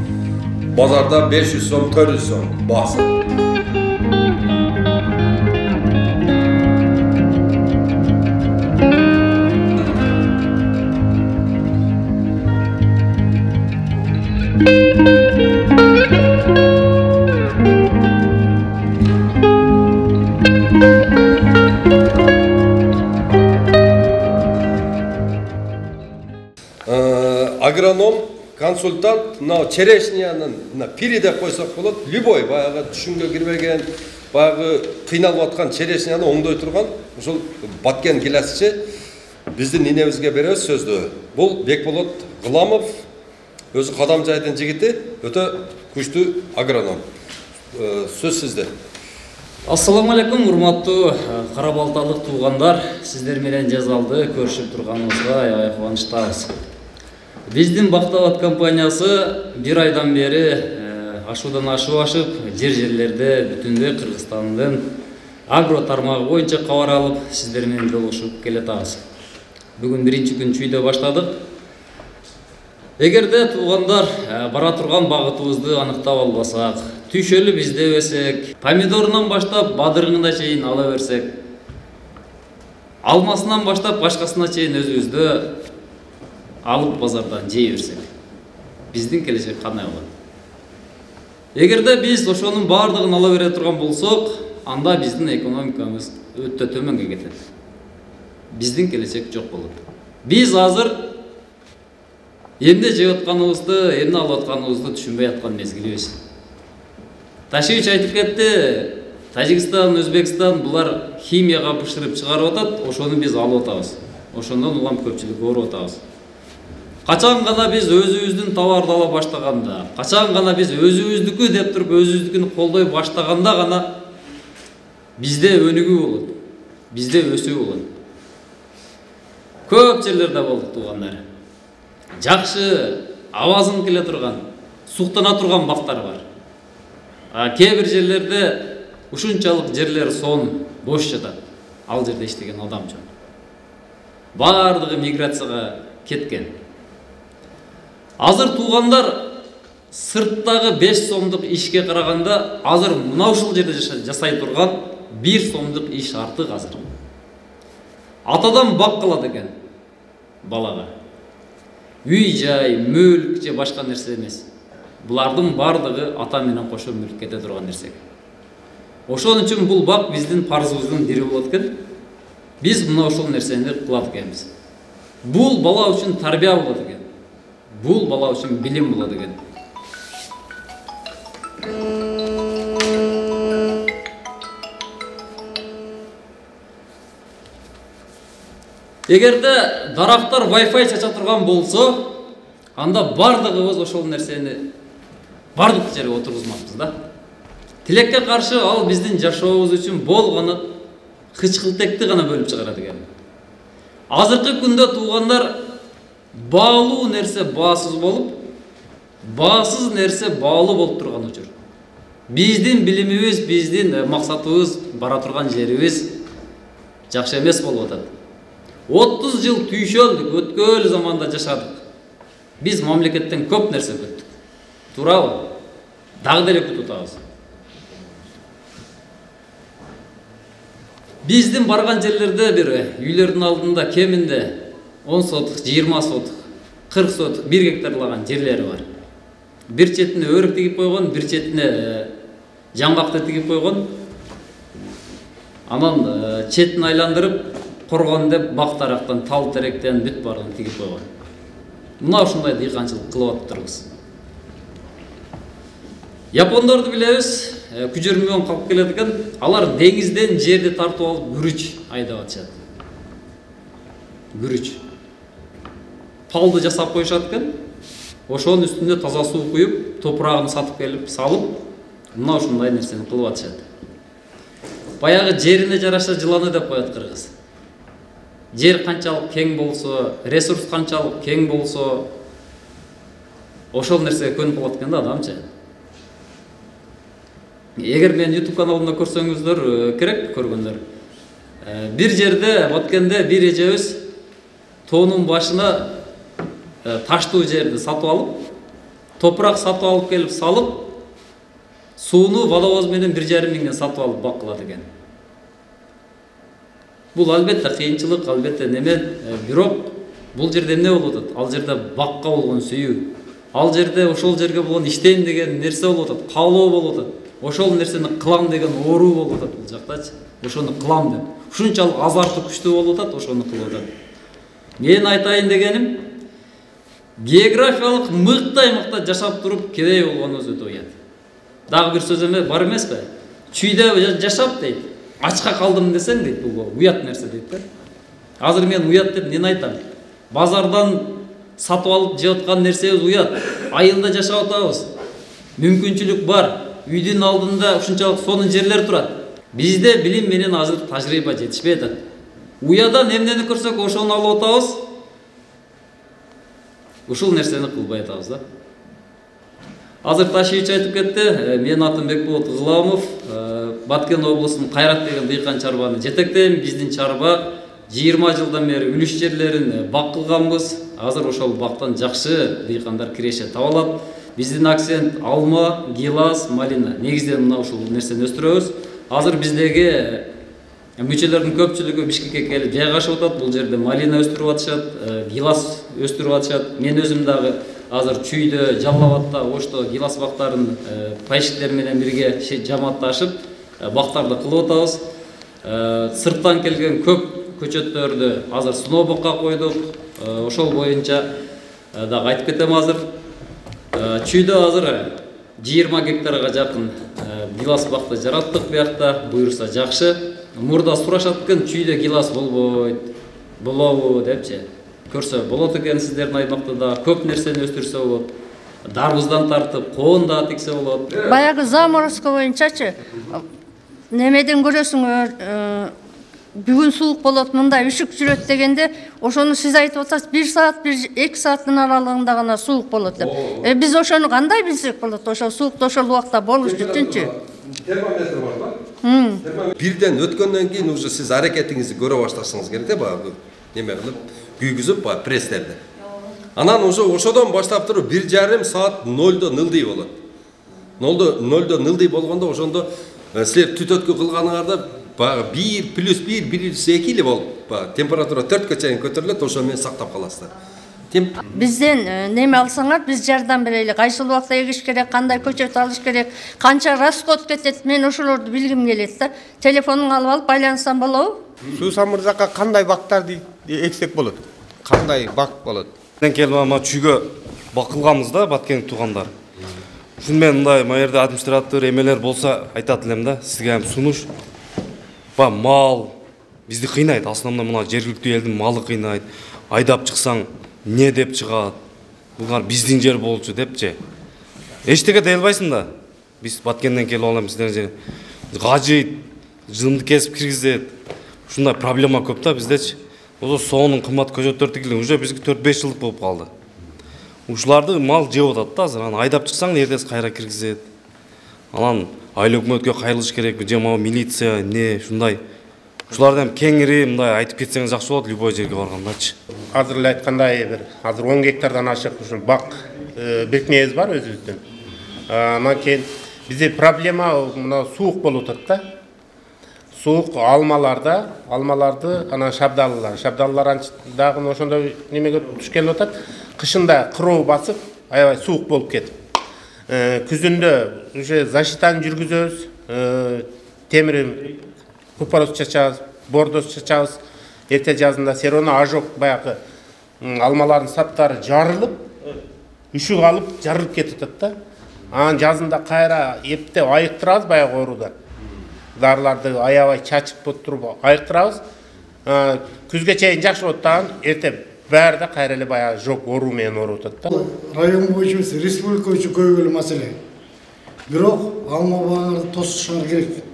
Speaker 1: Базарда беш жүз сом, төрт жүз сом баасы. Агроном, консультант, мына черешнянын мына пири деп койсок болот, любой баягы түшүнгө кирбеген, баягы кыйналып аткан черешняны оңдой турган ушул баткен гиласчы биздин инебизге беребиз сөздү. Бул Бекболот Гыламов, өзү Кадамжайдын жигити, өтө күчтүү агроном. Сөз сизде.
Speaker 2: Ассаламу алейкум, урматтуу Кара Балталык туугандар. Сиздер менен жазалды көрүшүп турганыбызга аябай кубанычтабыз. Биздин Бактабат компаниясы бир айдан бери ашуудан ашып ашып, жер-жерлерде бүтүндөй Кыргызстандын агро тармагы боюнча кабар алып, сиздер менен жолугушуп келатабыз. Бүгүн биринчи күн чүйдө баштадык. Эгерде туугандар бара турган багытыбызды аныктап албасак, түйшөлү бизде өсөк, помидорунан баштап бадырыгына чейин ала берсек, алмасынан баштап башкасына чейин өзүбүздө алып базардан жей берсек, биздин келечек кандай болот? Эгерде биз ошонун баардыгын ала бере турган болсок, анда биздин экономикабыз өтө төмөнгө кетет. Биздин келечек жок болот. Биз азыр эмне жеп атканыбызды, эмне алып атканыбызды түшүнбөй аткан мезгилибиз. Ташиевич айтып кетти, Тажикстан, Өзбекстан булар химияга бышырып чыгарып атат, ошону биз алып атабыз. Ошондон улам көпчүлүк ооруп атабыз. Качан гана биз өзүбүздүн товарды ала баштаганда, качан гана биз өзүбүздүкү деп туруп өзүбүздүкүн колдой баштаганда гана бизде өнүгүү болот, бизде өсүү болот. Көп жерлерде болдук туугандар. Жакшы абазын келе турган, суктана турган бактар бар. А кээ бир жерлерде ушунчалык жерлер сон бош жатат. Ал жерде иштеген адам жок. Бардыгы миграцияга кеткен. Азыр туугандар сырттагы беш сомдук ишке караганда азыр мына ушул жерде жасай турган бир сомдук иш артык азыр. Атадан бак калат экен балага. Үй жай, мүлк же башка нерсе эмес. Булардын бардыгы ата менен кошо мүлк кете турган нерсе. Ошон үчүн бул бак биздин парзыбыздын бири болот экен. Биз мына ошол нерсени кылат экенбиз. Бул бала үчүн тарбия болот экен. Бул бала үчүн билим болот экен. Эгерде дарактар Wi-Fi чача турган болсо, анда бардыгыбыз ошол нерсени бардык жерге отургузмакпыз да. Тилекке каршы ал биздин жашообуз үчүн болгону кычкылтекти гана бөлүп чыгарат экен. Азыркы күндө туугандар баалуу нерсе баасыз болуп, баасыз нерсе баалуу болуп турган учур. Биздин билимибиз, биздин максатыбыз, бара турган жерибиз жакшы эмес болуп атат. отуз жыл түйшөлдүк, өткөн заманда жашадык. Биз мамлекеттен көп нерсе күттүк. Туурабы? Дагы деле күтүп атабыз. Биздин барган жерлерде бир үйлөрдүн алдында кеминде он сотук, жыйырма сотук, кырк сотук, бир гектарлаган жерлери бар. Бир четине өрүк тигип койгон, бир четине жаңгакты тигип койгон. Анан четин айландырып коргон деп бак тарактан, тал теректен бүт бардыгын тигип койгон. Мына ушундай дыйканчылык кылып атабыз. Япондорду билебиз, күчөрмөн калып келет экен. Алар деңизден жерди тартып алып күрүч айдап атышат. Күрүч. Палды жасап коюшат экен. Ошонун үстүнө таза суу куюп, топурагын сатып келип салып, мына ушундай нерсени кылып атышат. Баягы жерине жараша жыланы деп коет кыргыз. Жер канчалык кең болсо, ресурс канчалык кең болсо, ошол нерсеге көнүп калат экен да адамчы. Эгер мен YouTube каналымда көрсөңүздөр керек көргөндөр. Бир жерде өткөндө бир эжебиз тоонун башына таштуу жерди сатып алып, топурак сатып алып келип салып, сууну водовоз менен бир жарым миңден сатып алып бак кылат экен. Бул албетте кыйынчылык, албетте неме, бирок бул жерде эмне болуп атат? Ал жерде бакка болгон сүйүү, ал жерде ошол жерге болгон иштейм деген нерсе болуп атат, каалоо болуп атат. Ошол нерсени кылам деген оору болуп атат бул жактачы. Ошону кылам деп. Ушунчалык азарты күчтүү болуп атат, ошону кылып атат. Мен айтайын дегеним, географиялык мыкты аймакта жашап туруп кедей болгонубуз өтө уят. Дагы бир сөз эме бар эмеспи? Чүйдө жашап дейт. Ачка калдым десең дейт, бул уят нерсе дейт да. Азыр мен уят деп эмне айтам? Базардан сатып алып жеп аткан нерсебиз уят. Айылда жашап атабыз. Мүмкүнчүлүк бар. Үйдүн алдында ушунчалык сонун жерлер турат. Бизде билим менен азыр тажрыйба жетишпей атат. Уядан эмнени көрсөк ошону алып атабыз. Ушул нерсени кылбай атабыз да. Азыр ташыйчы айтып кетти. Мен атым Бекболот Гыламов, Баткен облусунун Кайрат деген дыйкан чарбаны жетектейм. Биздин чарба жыйырма жылдан бери үлүш жерлерин бак кылганбыз. Азыр ошол бактан жакшы дыйкандар киреше таба алат. Биздин акцент алма, гилас, малина. Негизден мына ушул нерсени өстүрөбүз. Азыр биздеги мүчөлөрдүн көпчүлүгү Бишкекке келип жайгашып атат. Бул жерде малина өстүрүп атышат, гилас өстүрүп атышат. Мен өзүм дагы азыр Чүйдө, Жалал Абадта, Ошто гилас бактарын пайшиктер менен бирге жамаатташып бактарды кылып атабыз. Сырттан келген көп көчөттөрдү азыр сноубокко койдук. Ошол боюнча дагы айтып кетем азыр. Чүйдө азыр жыйырма гектарга жакын гилас бакты жараттык биякта, буюрса жакшы. Мурда сурашат экен, чүйдө гилас болбойт, болобу депчи. Көрсө болот экен сиздердин аймакта да көп нерсени өстүрсө болот. Дарбыздан тартып, коон да тексе болот.
Speaker 3: Баягы заморозка боюнчачы немеден көрөсүңөр, бүгүн суук болот, мындай үшүк жүрөт дегенде, ошону сиз айтып атасыз, бир саат, бир эки сааттын аралыгында гана суук болот деп. Э биз ошону кандай билсек болот? Ошо суукту ошол убакта болуш үчүнчү.
Speaker 1: Термометр бар да? Бирден өткөндөн кийин уже сиз аракетиңизди көрө башташыңыз керек да, баягы неме кылып, күйгүзүп, баягы пресстерди. Анан уже ошодон баштап туруп бир жарым саат нолдо нылдый болот. Нолдо нолдо нылдый болгондо ошондо силер түтөткү кылганыңарда баягы бир плюс бир, бир плюс эки эле болуп, баягы температура төрткө чейин көтөрүлөт, ошо менен сактап каласыздар.
Speaker 3: Бизден неме алсаңар, биз жардам берели. Кайсыл убакта эгиш керек, кандай көчөт алыш керек, канча расход кетет, мен ошолорду билгим келет да. Телефонуңду алып алып байланышсам болобу?
Speaker 4: Суусам мырзакка кандай бактарды эксек болот? Кандай бак болот?
Speaker 5: Мен келип ама чүйгө бакылганбыз да, Баткендик туугандар. Ушун мен мындай маерде администратор эмелер болсо айтат элем да, сизге ham сунуш. Ба мал бизди кыйнайт, основном мына жергиликтүү элдин малы кыйнайт. Айдап чыксаң не деп чыгат? Булар биздин жер болчу депчи. Эчтеке дей албайсың да. Биз Баткенден келип алам, сиздер жер гажыйт, жынды кесип киргизет. Ушундай проблема көп да биздечи. Ошо соонун кымбат көчөттөр тигилген уже бизге төрт беш жылдык болуп калды. Ушуларды мал жеп атат да азыр. Анан айдап чыксаң эртеси кайра киргизет. Анан айыл өкмөткө кайрылыш керек, же могу милиция, не ушундай. Ушуларды ham кеңири мындай айтып кетсеңиз жакшы болот любой жерге баргандачы.
Speaker 4: Азыр эле айткандай бир азыр он гектардан ашык ушул бак бекмебиз бар өзүбүздүн. Анан кийин бизде проблема мына суук болуп атат да. Суук алмаларда, алмаларды анан шабдалылар. Шабдалылар дагы ошондой немеге туш келип атат. Кышында кыроо басып, аябай суук болуп кетип. Күзүндө уже защитаны жүргүзөбүз. Темир купорос чачабыз, бордос чачабыз. Эрте жазында сероно ажок баягы алмалардын саптары жарылып, үшүк алып жарылып кетип атат да. Анан жазында кайра эптеп айыктырабыз баягы оорудан. Дарыларды аябай чачып туруп айыктырабыз. Күзгө чейин жакшы болот да, эрте баары да кайра эле баягы жок оору менен ооруп атат да.
Speaker 6: Район боюнча эмес, республика боюнча көйгөйлүү маселе. Бирок алма багыңарды тосушуңар керек.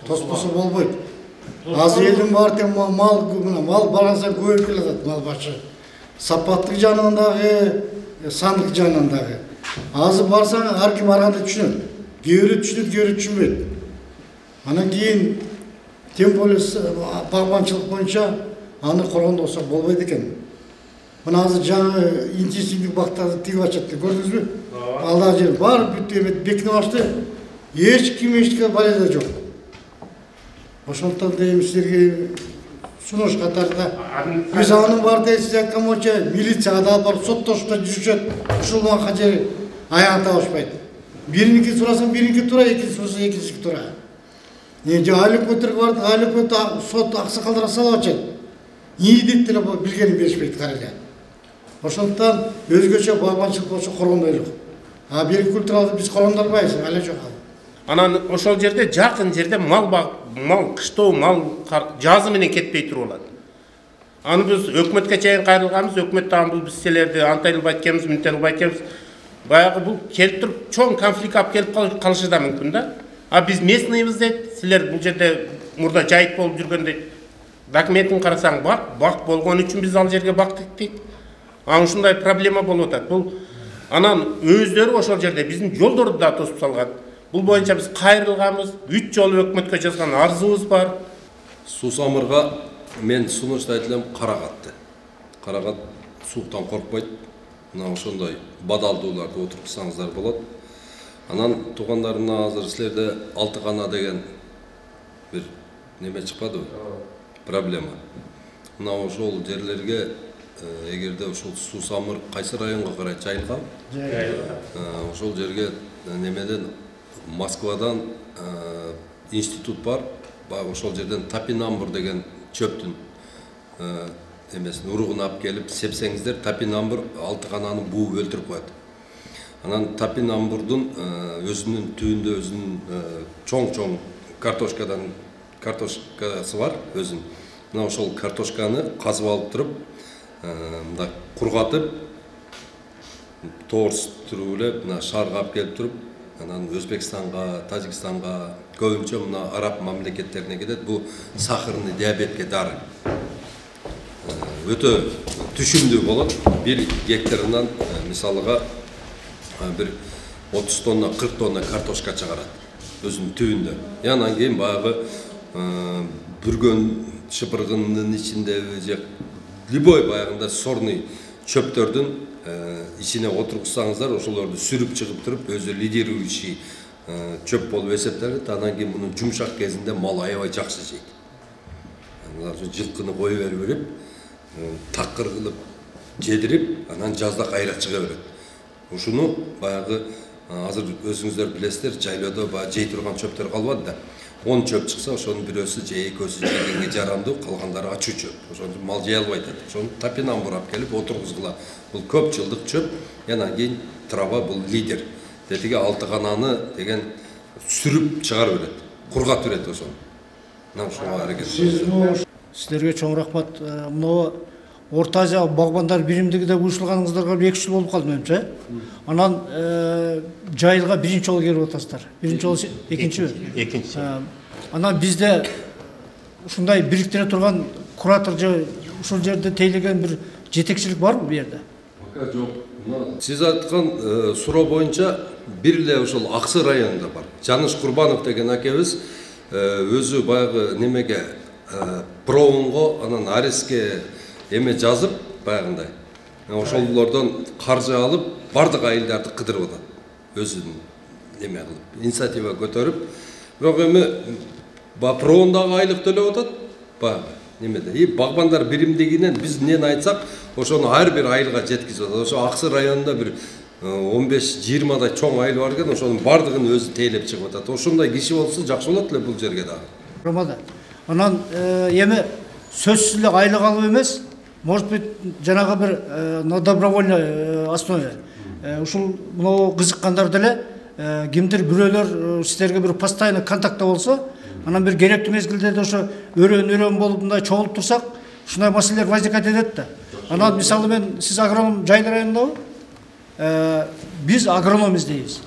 Speaker 6: Тоспосо болбойт. Азыр элдин баары тең мал мына мал барган көбөйүп келатат, мал башы. Сапаттык жагынан дагы, сандык жагынан дагы. Азыр барсаң ар ким ар кандай түшүнөт. Кээ бирөө түшүнөт, кээ бирөө түшүнбөйт. Анан кийин тем более багбанчылык боюнча аны коргондо болсо болбойт экен. Мына азыр жаңы интенсивдик бактарды тигип ачат, көрдүңүзбү? Алда жер бар бүт эме бекинип ашты. Эч ким эчтеке баледе жок. Ошондон дейм силерге сунуш катарында биз анын бар дейсиз айткан боюнча милицияга да алып барып соттошуп жүрүшөт. Ушул убакка жери аягын табышпайт. Бириники сурасаң бириники туура, экинчи сурасаң экинчиси туура. Не же айыл өкмөттөргө бардык, айыл өкмөт сот аксакалдар салып атат. Ийи деп деле билгенин беришпейт кара эле. Ошондон өзгөчө багбанчылык болсо коргондой жок. А бир культуралды биз коргондорбайбыз, ала жок.
Speaker 4: Анан ошол жерде жакын жерде мал баг, мал кыштоо, мал жазы менен кетпей туруп алат. Аны биз өкмөткө чейин кайрылганбыз, өкмөт дагы бул биз силерди антайлабай экенбиз, мынтайлабай экенбиз. Баягы бул келип туруп чоң конфликт алып келип калышы да мүмкүн да. А биз местныйбыз дейт, силер бул жерде мурда жайыт болуп жүргөн дейт. Документин карасаң бак, бак болгон үчүн биз ал жерге бактык дейт. Анан ушундай проблема болуп атат. Бул анан өздөрү ошол жерде биздин жолдорду да тосуп салган. Бул боюнча биз кайрылганбыз, үч жолу өкмөткө жазган арызыбыз бар.
Speaker 1: Суусамырга мен сунуш айтылам карагатты. Карагат сууктан коркпойт. Мына ошондой бадалдууларды отургузсаңыздар болот. Анан туугандарымна азыр силерде алты кана деген бир неме чыкпадыбы? Проблема. Мына ошол жерлерге эгерде ошол Суусамыр кайсы районго карай жайылган? Жайылган. Ошол жерге немеден Москвадан институт бар. Ошол жерден топинамбур деген чөптүн эмесин уругун алып келип сепсеңиздер, топинамбур алты кананы бууп өлтүрүп коет. Анан Топинамбурдун өзүнүн түбүндө өзүнүн чоң-чоң картошкадан картошкасы бар өзүнүн. Мына ошол картошканы казып алып туруп, мындай кургатып, тоорстуруп эле мына шаарга алып келип туруп, анан Өзбекстанга, Тажикстанга, көбүнчө мына араб мамлекеттерине кетет. Бул сахарный диабетке дары. Өтө түшүмдүү болот. Бир гектарынан мисалыга бир отуз тонна, кырк тонна картошка чыгарат өзүнүн түбүндө. Анан кийин баягы бүргөн шыпыргынын ичиндеби же любой баягында сорный чөптөрдүн ичине отургузсаңыздар, ошолорду сүрүп чыгып туруп, өзү лидирующий чөп болуп эсептелет. Анан кийин мунун жумшак кезинде мал аябай жакшы жейт. Мына жылкыны кое берип берип, такыр кылып жедирип, анан жазда кайра чыга берет. Ушуну баягы азыр өзүңүздөр билесиздер, жайлоодо баягы жей турган чөптөр калбады да. он чөп чыкса, ошонун бирөөсү же экөөсү жегенге жарамдуу, калгандары ачуу чөп. Ошону мал жей албайт. Ошону Топинамбур алып келип отургузгула. Бул көп жылдык чөп. Анан кийин трава бул лидер. Тетиги алты кананы деген сүрүп чыгарып берет. Кургатып берет ошону. Мына ушуга аракет.
Speaker 6: Сиздерге чоң рахмат. Мына Орта Азия багбандар биримдигиде уюштурганыңыздарга эки жыл болуп калды менимче. Анан жайылга биринчи жолу келип атасыздар. Биринчи жолу экинчи.
Speaker 4: Экинчи.
Speaker 6: Анан бизде ушундай бириктире турган куратор же ушул жерде тейлеген бир жетекчилик барбы бу жерде?
Speaker 1: Жок. Сиз айткан суроо боюнча бир эле ошол Аксы районунда бар. Жаныш Курбанов деген акебиз өзү баягы немеге проонго, анан ареске эме жазып баягындай. Ошолордон каржы алып, бардык айылдарды кыдырып атат. Өзүнүн неме кылып, инициатива көтөрүп, бирок эми проондагы айлык төлөп атат. Баягы немеде. И багбандар биримдигинен биз эмнени айтсак, ошону ар бир айылга жеткизип атат. Ошо Аксы районунда бир он беш жыйырмадай чоң айыл бар экен, ошонун бардыгын өзү тейлеп чыгып атат. Ошондой киши болсо жакшы болот эле бул жерге дагы.
Speaker 6: Ромада. Анан эми сөзсүз эле айлык алып эмес, может быть, жанагы бир на добровольной основе. Ушул мына кызыккандар деле кимдир бирөөлөр сиздерге бир постоянно контактта болсо, анан бир керектүү мезгилдерде ошо өрөөн-өрөөн болуп мындай чогулуп турсак, ушундай маселелер возникать этет да. Анан мисалы мен сиз агроном жайыл районундабы? Биз агроном издейбиз.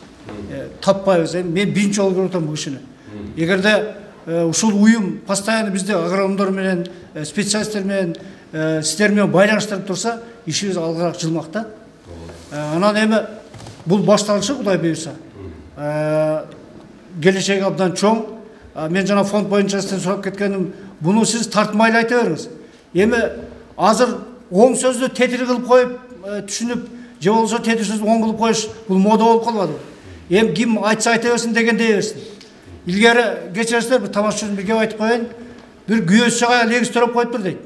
Speaker 6: Таппайбыз. Мен биринчи жолу көрүп атам бул кишини. Эгерде ушул уюм постоянно бизде агрономдор менен, специалисттер менен, сиздер менен байланыштырып турса, ишибиз алгыраак жылмак да. Анан эми бул башталышы Кудай буйруса. Келечеги абдан чоң. Мен жана фонд боюнча сизден сурап кеткеним, буну сиз тартмайлы айта бериңиз. Эми азыр оң сөздү тетир кылып коюп, түшүнүп, же болсо тетир сөздү оң кылып коюш бул мода болуп калбадыбы? Эми ким айтса айта берсин деген дей берсин. Илгери кечиресиздер, бир тамашачы бир кеп айтып коеюн. Бир күйөөсү жагая легиз төрөп коюптур дейт.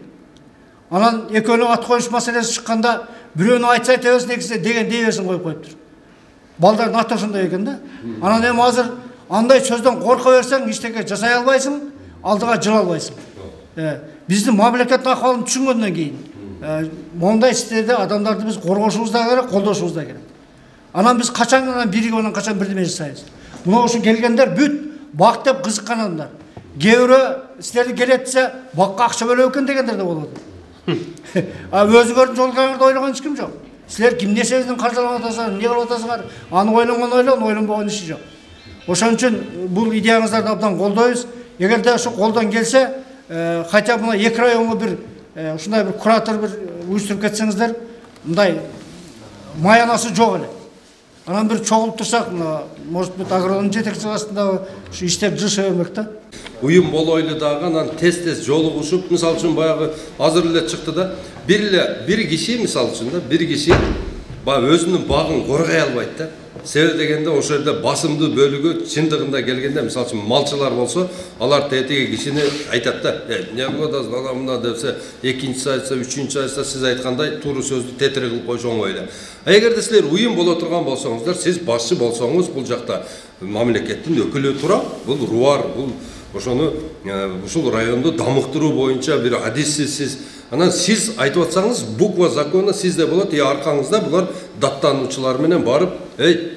Speaker 6: Анан экөөнүн ат коюш маселеси чыкканда бирөөнү айтса айта берсин, экинчиси деген дей берсин коюп коюптур. Балдардын аты ошондой экен да. Анан эми азыр андай сөздөн корко берсең, эчтеке жасай албайсың, алдыга жыла албайсың. Биздин мамлекеттин акыбалын түшүнгөндөн кийин мондай сиздерде адамдарды биз коргошубуз да керек, колдошубуз да керек. Анан биз качан гана биригип анан качан бирдеме жасайбыз. Мына ушул келгендер бүт бак деп кызыккан адамдар. Кээ бирөө силерди келет десе, бакка акча бөлөп экен дегендер да болот. А өзүңөрдүн жолуңарды ойлогон эч ким жок. Силер ким нерсеңиздин каржылап атасыңар, эмне кылып атасыңар, аны ойлонгон ойлон, ойлонбогон иши жок. Ошон үчүн бул идеяңыздарды абдан колдойбуз. Эгерде ошо колдон келсе, хотя бы мына эки районго бир ушундай бир куратор бир уюштуруп кетсеңиздер, мындай маянасы жок эле. Анан бир чогулуп турсак, может быть, агроном жетекчилиги астында ушу иштер жылыша бермек да.
Speaker 1: Уюм болойлу дагы, анан тез-тез жолугушуп, мисалы үчүн баягы азыр эле чыкты да, бир эле бир киши, мисалы үчүн да, бир киши баягы өзүнүн багын коргой албайт да. Себеби дегенде ошол жерде басымдуу бөлүгү чындыгында келгенде, мисалы үчүн малчылар болсо, алар тетиги кишини айтат да, эмне кылып атасың, ана мына депсе, экинчиси айтса, үчүнчүсү айтса, сиз айткандай туура сөздү тетири кылып коюш оңой эле. А эгерде силер уюм боло турган болсоңуздар, сиз башчы болсоңуз, бул жакта мамлекеттин өкүлү турат, бул руар, бул ошону ушул районду дамыктыруу боюнча бир адисти сиз Анан сиз айтып атсаңыз, буква закона сизде болот, и аркаңызда булар даттануучулар менен барып, эй,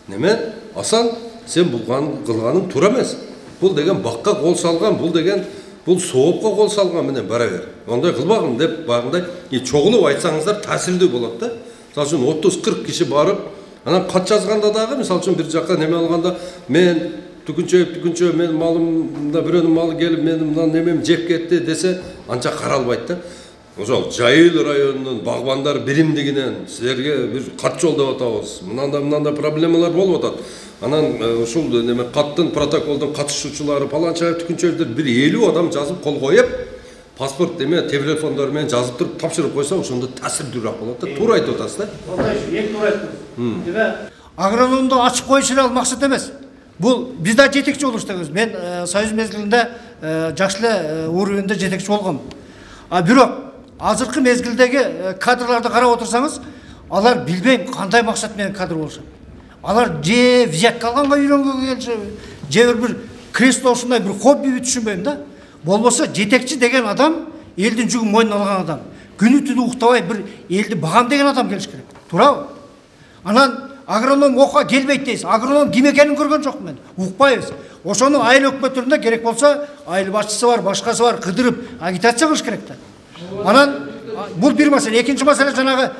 Speaker 1: неме? Асан, сен булган кылганың туура эмес. Бул деген бакка кол салган, бул деген бул соопко кол салган менен бара бер. Ондай кылбагын деп багындай, и чогулуп айтсаңыздар таасирдүү болот да. Мисалы үчүн отуз кырк киши барып, анан кат жазганда дагы, мисалы үчүн бир жакка неме алганда, мен түкүнчөйүп түкүнчө мен малымда бирөөнүн малы келип менин мына немем жеп кетти десе, анча каралбайт да. Ошол Жайыл районунун багбандар биримдигинен силерге бир кат жолдоп атабыз. Мынандай мынандай проблемалар болуп атат. Анан ушул неме каттын протоколдун катышуучулары паланча түкүнчөйдөр бир элүү адам жазып кол коюп, паспорт эме телефондору менен жазып туруп тапшырып койсо, ошондо таасирдүүрөөк болот да. Туура айтып атасыз да.
Speaker 7: Мындай эң туура айттыңыз. Агрономду ачып коюш ал максат эмес. Бул биз да жетекчи болуш дегенбиз. Мен Союз мезгилинде жакшы эле уровенде жетекчи болгом. А бирок азыркы мезгилдеги кадрларды карап отурсаңыз, алар билбейм кандай максат менен кадр болушат. Алар же взятка алганга үйрөнгөнгө келишеби, же бир кресло ушундай бир хобби түшүнбөйм да. Болбосо жетекчи деген адам элдин жүгүн мойнуна алган адам. Күнү түнү уктабай бир элди багам деген адам келиш керек. Туурабы? Анан агроном окуга келбейт дейсиз. Агроном ким экенин көргөн жокмун мен. Укпайбыз. Ошону айыл өкмөттөрүндө керек болсо, айыл башчысы бар, башкасы бар, кыдырып агитация кылыш керек да. Анан бул бир маселе. Экинчи маселе жанагы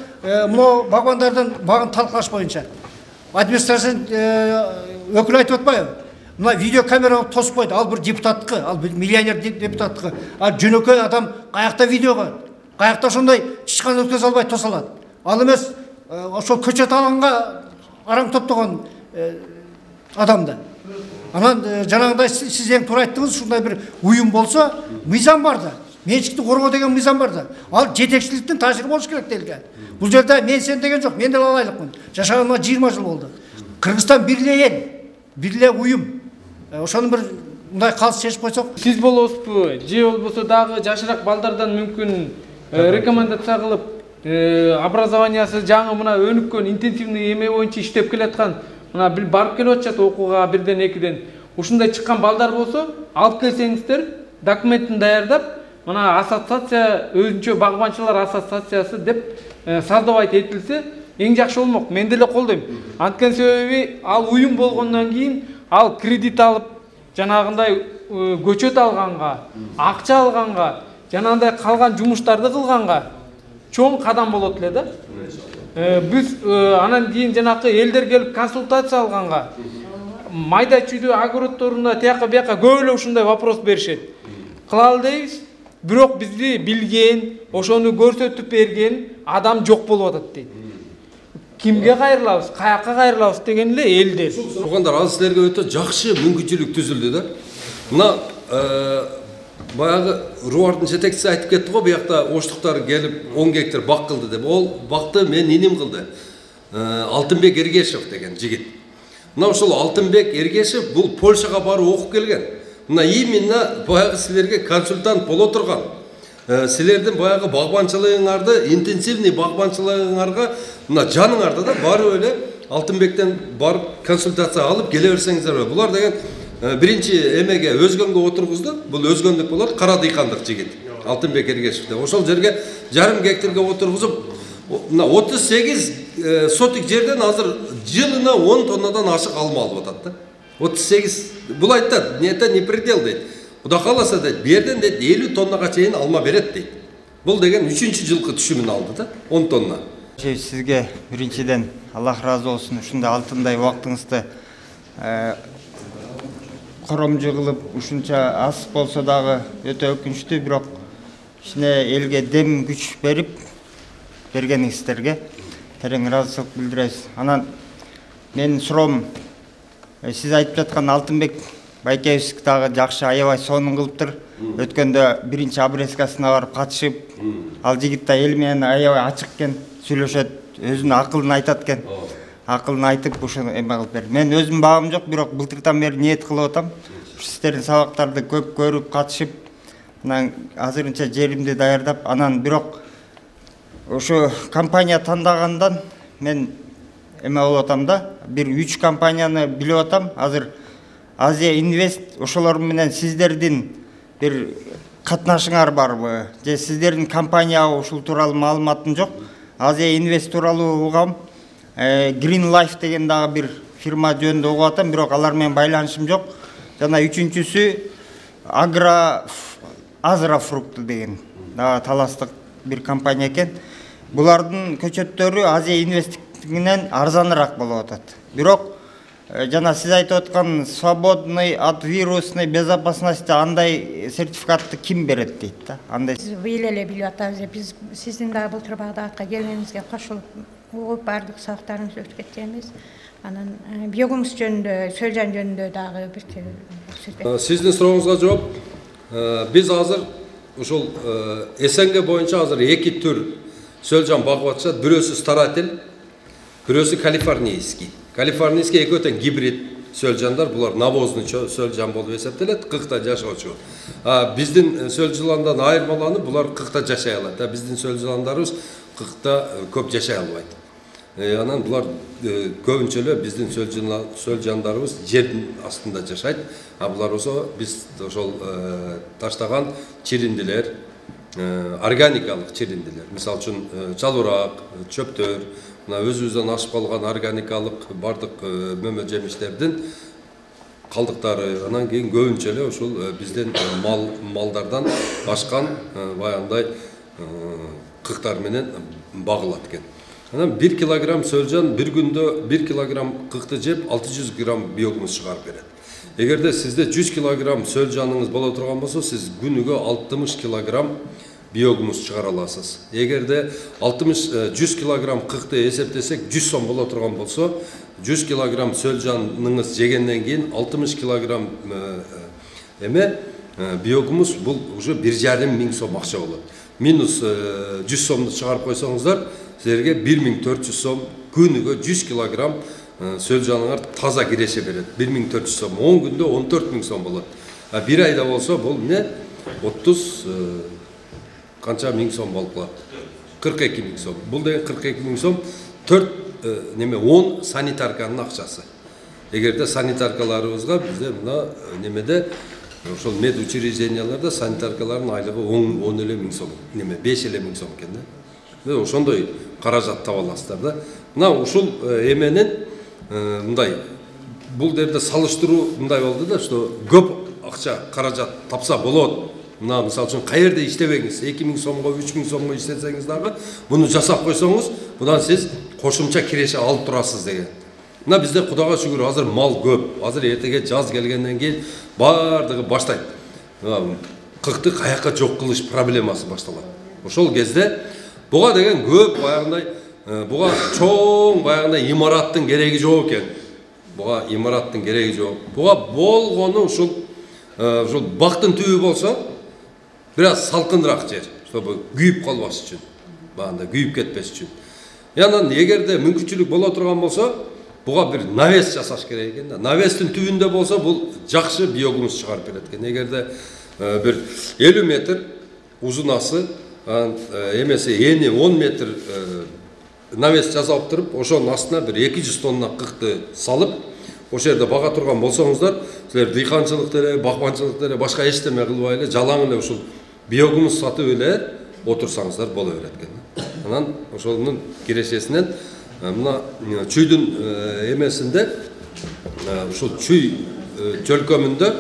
Speaker 7: могу багбандардын багын талкалаш боюнча. Администрация өкүлү айтып атпайбы? Мына видео камера тосуп койду. Ал бир депутаттыкы, ал бир миллионер депутаттыкы. А жөнөкөй адам каякта видео бар? Каякта ошондой чычкан өткөзө албай тосалат? Ал эмес ошол көчөт алганга араң топтогон адамда. Анан жанагындай сиз эң туура айттыңыз, ушундай бир уюм болсо, мыйзам бар да. Менчикти коргоо деген мыйзам бар да. Ал жетекчиликтин таасири болуш керек делге. Бул жерде мен сен деген жок, мен деле алайлыкмын. Жашаганыма жыйырма жыл болду. Кыргызстан бир эле эл, бир эле уюм. Ошону бир мындай калыс чечип койсок,
Speaker 8: сиз болосузбу, же болбосо дагы жашыраак балдардан мүмкүн рекомендация кылып, образованиясы жаңы мына өнүккөн интенсивный эме боюнча иштеп келаткан, мына бир барып келип атышат окууга бирден экиден. Ушундай чыккан балдар болсо, алып келсеңиздер, документин даярдап, мына ассоциация, өзүнчө багбанчылар ассоциациясы деп создавать этилсе, эң жакшы болмок. Мен деле колдойм. Анткени себеби ал уюм болгондон кийин ал кредит алып, жанагындай көчөт алганга, акча алганга, жанагындай калган жумуштарды кылганга чоң кадам болот эле да. Биз анан кийин жанакы элдер келип консультация алганга, майда чүйдө огородторунда тияка бияка көп эле ушундай вопрос беришет. Кылалы дейбиз, бирок бизди билген, ошону көрсөтүп берген адам жок болуп атат дейт. Кимге кайрылабыз, каяка кайрылабыз деген эле элдер.
Speaker 1: Туугандар, ал силерге өтө жакшы мүмкүнчүлүк түзүлдү да. Мына баягы Руардын жетекчиси айтып кетти го, буякта оштуктар келип он гектар бак кылды деп. Ол бакты мен иним кылды. Алтынбек Эргешев деген жигит. Мына ошол Алтынбек Эргешев бул Польшага барып окуп келген. Мына именно баягы силерге консультант боло турган. Силердин баягы багбанчылыгыңарды, интенсивный багбанчылыгыңарга мына жаныңарда да барып эле Алтынбектен барып консультация алып келе берсеңиздер. Булар деген биринчи эмеге өзгөнгө отургузду. Бул өзгөндүк болот, кара дыйкандык жигит. Алтынбек Эргешев деп. Ошол жерге жарым гектарга отургузуп, мына отуз сегиз сотик жерден азыр жылына он тоннадан ашык алма алып атат да. отуз сегиз. Бул айтат, это не предел дейт. Куда кааласа дейт, бу жерден дейт элүү тоннага чейин алма берет дейт. Бул деген үчүнчү жылкы түшүмүн алды да, он тонна.
Speaker 9: Сизге биринчиден Аллах разы болсун, ушундай алтындай убактыңызды коромжу кылып, ушунча аз болсо дагы өтө өкүнчтүү, бирок ишине элге дем күч берип бергениңиздерге терең ыраазычылык билдиребиз. Анан менин суроом, сиз айтып жаткан Алтынбек Байкебиз дагы жакшы аябай сонун кылыптыр. Өткөндө биринчи обрезкасына барып катышып, ал жигит да эл менен аябай ачык экен, сүйлөшөт, өзүнүн акылын айтат экен. Акылын айтып ушуну эме кылып берди. Мен өзүм багым жок, бирок былтырдан бери ниет кылып атам. Сиздердин сабактарды көп көрүп, катышып, анан азырынча жеримди даярдап, анан бирок ошо компания тандагандан мен эме болуп атам да, бир үч компанияны билип атам. Азыр Азия Инвест ошолор менен сиздердин бир катнашыңар барбы же сиздердин компания ушул тууралуу маалыматым жок. Азия Инвест тууралуу угам. Green Life деген дагы бир фирма жөнүндө угуп атам, бирок алар менен байланышым жок. Жана үчүнчүсү Агро Азрафрукт деген дагы таластык бир компания экен. Булардын көчөттөрү Азия Инвесттигинен арзаныраак болуп атат. Бирок жана сиз айтып аткан свободный от вирусной безопасности андай сертификатты ким берет дейт да? Андай
Speaker 10: быйыл эле билип атабыз. Биз сиздин дагы былтыр Багдадка келгениңизге кошулуп угуп баардык сабактарыңызды өткөргөнбүз. Анан биогумус жөнүндө, Сөлжан жөнүндө дагы бир сөз.
Speaker 1: Сиздин сурооңузга жооп, биз азыр ушул СНГ боюнча азыр эки түр Сөлжан багып атышат. Бирөөсү старатель, бирөөсү калифорнийский. Калифорнийский экөө тең гибрид сөлжандар, булар навозный сөлжан болуп эсептелет, кыкта жашоочу. А биздин сөлжандардан айырмаланып, булар кыкта жашай алат. А биздин сөлжандарыбыз кыкта көп жашай албайт. Анан булар көбүнчө эле биздин сөлжандарыбыз жердин астында жашайт. А булар болсо биз ошол таштаган чириндилер, органикалык чириндилер. Мисалы үчүн чалбырак, чөптөр, мына өзүбүздөн ашып калган органикалык бардык мөмө жемиштердин калдыктары, анан кийин көбүнчө эле ушул биздин мал малдардан ашкан баягындай кыктар менен багылат экен. Анан бир килограмм сөлжан бир күндө бир килограмм кыкты жеп алты жүз грамм биогумус чыгарып берет. Эгерде сизде жүз килограмм сөлжаныңыз боло турган болсо, сиз күнүгө алтымыш килограмм биогумус чыгара аласыз. Эгерде алтымыш жүз килограмм кыкты эсептесек жүз сом боло турган болсо, жүз килограмм сөлжаныңыз жегенден кийин алтымыш килограмм эме биогумус бул уже бир жарым миң сом акча болот. Минус жүз сомду чыгарып койсоңуздар, силерге бир миң төрт жүз сом күнүгө жүз килограмм сөлжаныңар таза киреше берет. бир миң төрт жүз сом, он күндө он төрт миң сом болот. А бир айда болсо бул эмне? отуз канча миң сом болуп калат. кырк эки миң сом. Бул деген кырк эки миң сом төрт неме он санитарканын акчасы. Эгерде санитаркаларыбызга бизде мына немеде ошол мед учрежденияларда санитаркалардын айлыгы он эле миң сом, неме беш эле миң сом экен да. Ошондой каражат таба аласыздар да. Мына ушул эменин мындай бул жерде салыштыруу мындай болду да, что көп акча каражат тапса болот. Мына мисалы үчүн каерде иштебеңиз, эки миң сомго, үч миң сомго иштесеңиз дагы, буну жасап койсоңуз, будан сиз кошумча киреше алып турасыз деген. Мына бизде Кудайга шүгүр азыр мал көп. Азыр эртеге жаз келгенден кийин бардыгы баштайт. Кыкты каяка жок кылыш проблемасы башталат. Ошол кезде буга деген көп баягындай, буга чоң баягындай имараттын кереги жок экен. Буга имараттын кереги жок. Буга болгону ушул ушул бактын түбү болсо, бир аз салкыныраак жер, чтобы күйүп калбаш үчүн, баягындай күйүп кетпеш үчүн. Анан эгерде мүмкүнчүлүк боло турган болсо, буга бир навес жасаш керек экен да. Навестин түбүндө болсо, бул жакшы биогумус чыгарып берет экен. Эгерде бир элүү метр узунасы, эмеси эни он метр навес жасап туруп, ошонун астына бир эки жүз тонна кыкты салып, ошол жерде бага турган болсоңуздар, силер дыйканчылыкты эле, бакманчылыкты эле, башка эчтеме кылбай эле, жалаң эле ушул биогумус сатып эле отурсаңыздар боло берет экен. Анан ошонун кирешесинен мына чүйдүн эмесинде, ушул чүй чөлкөмүндө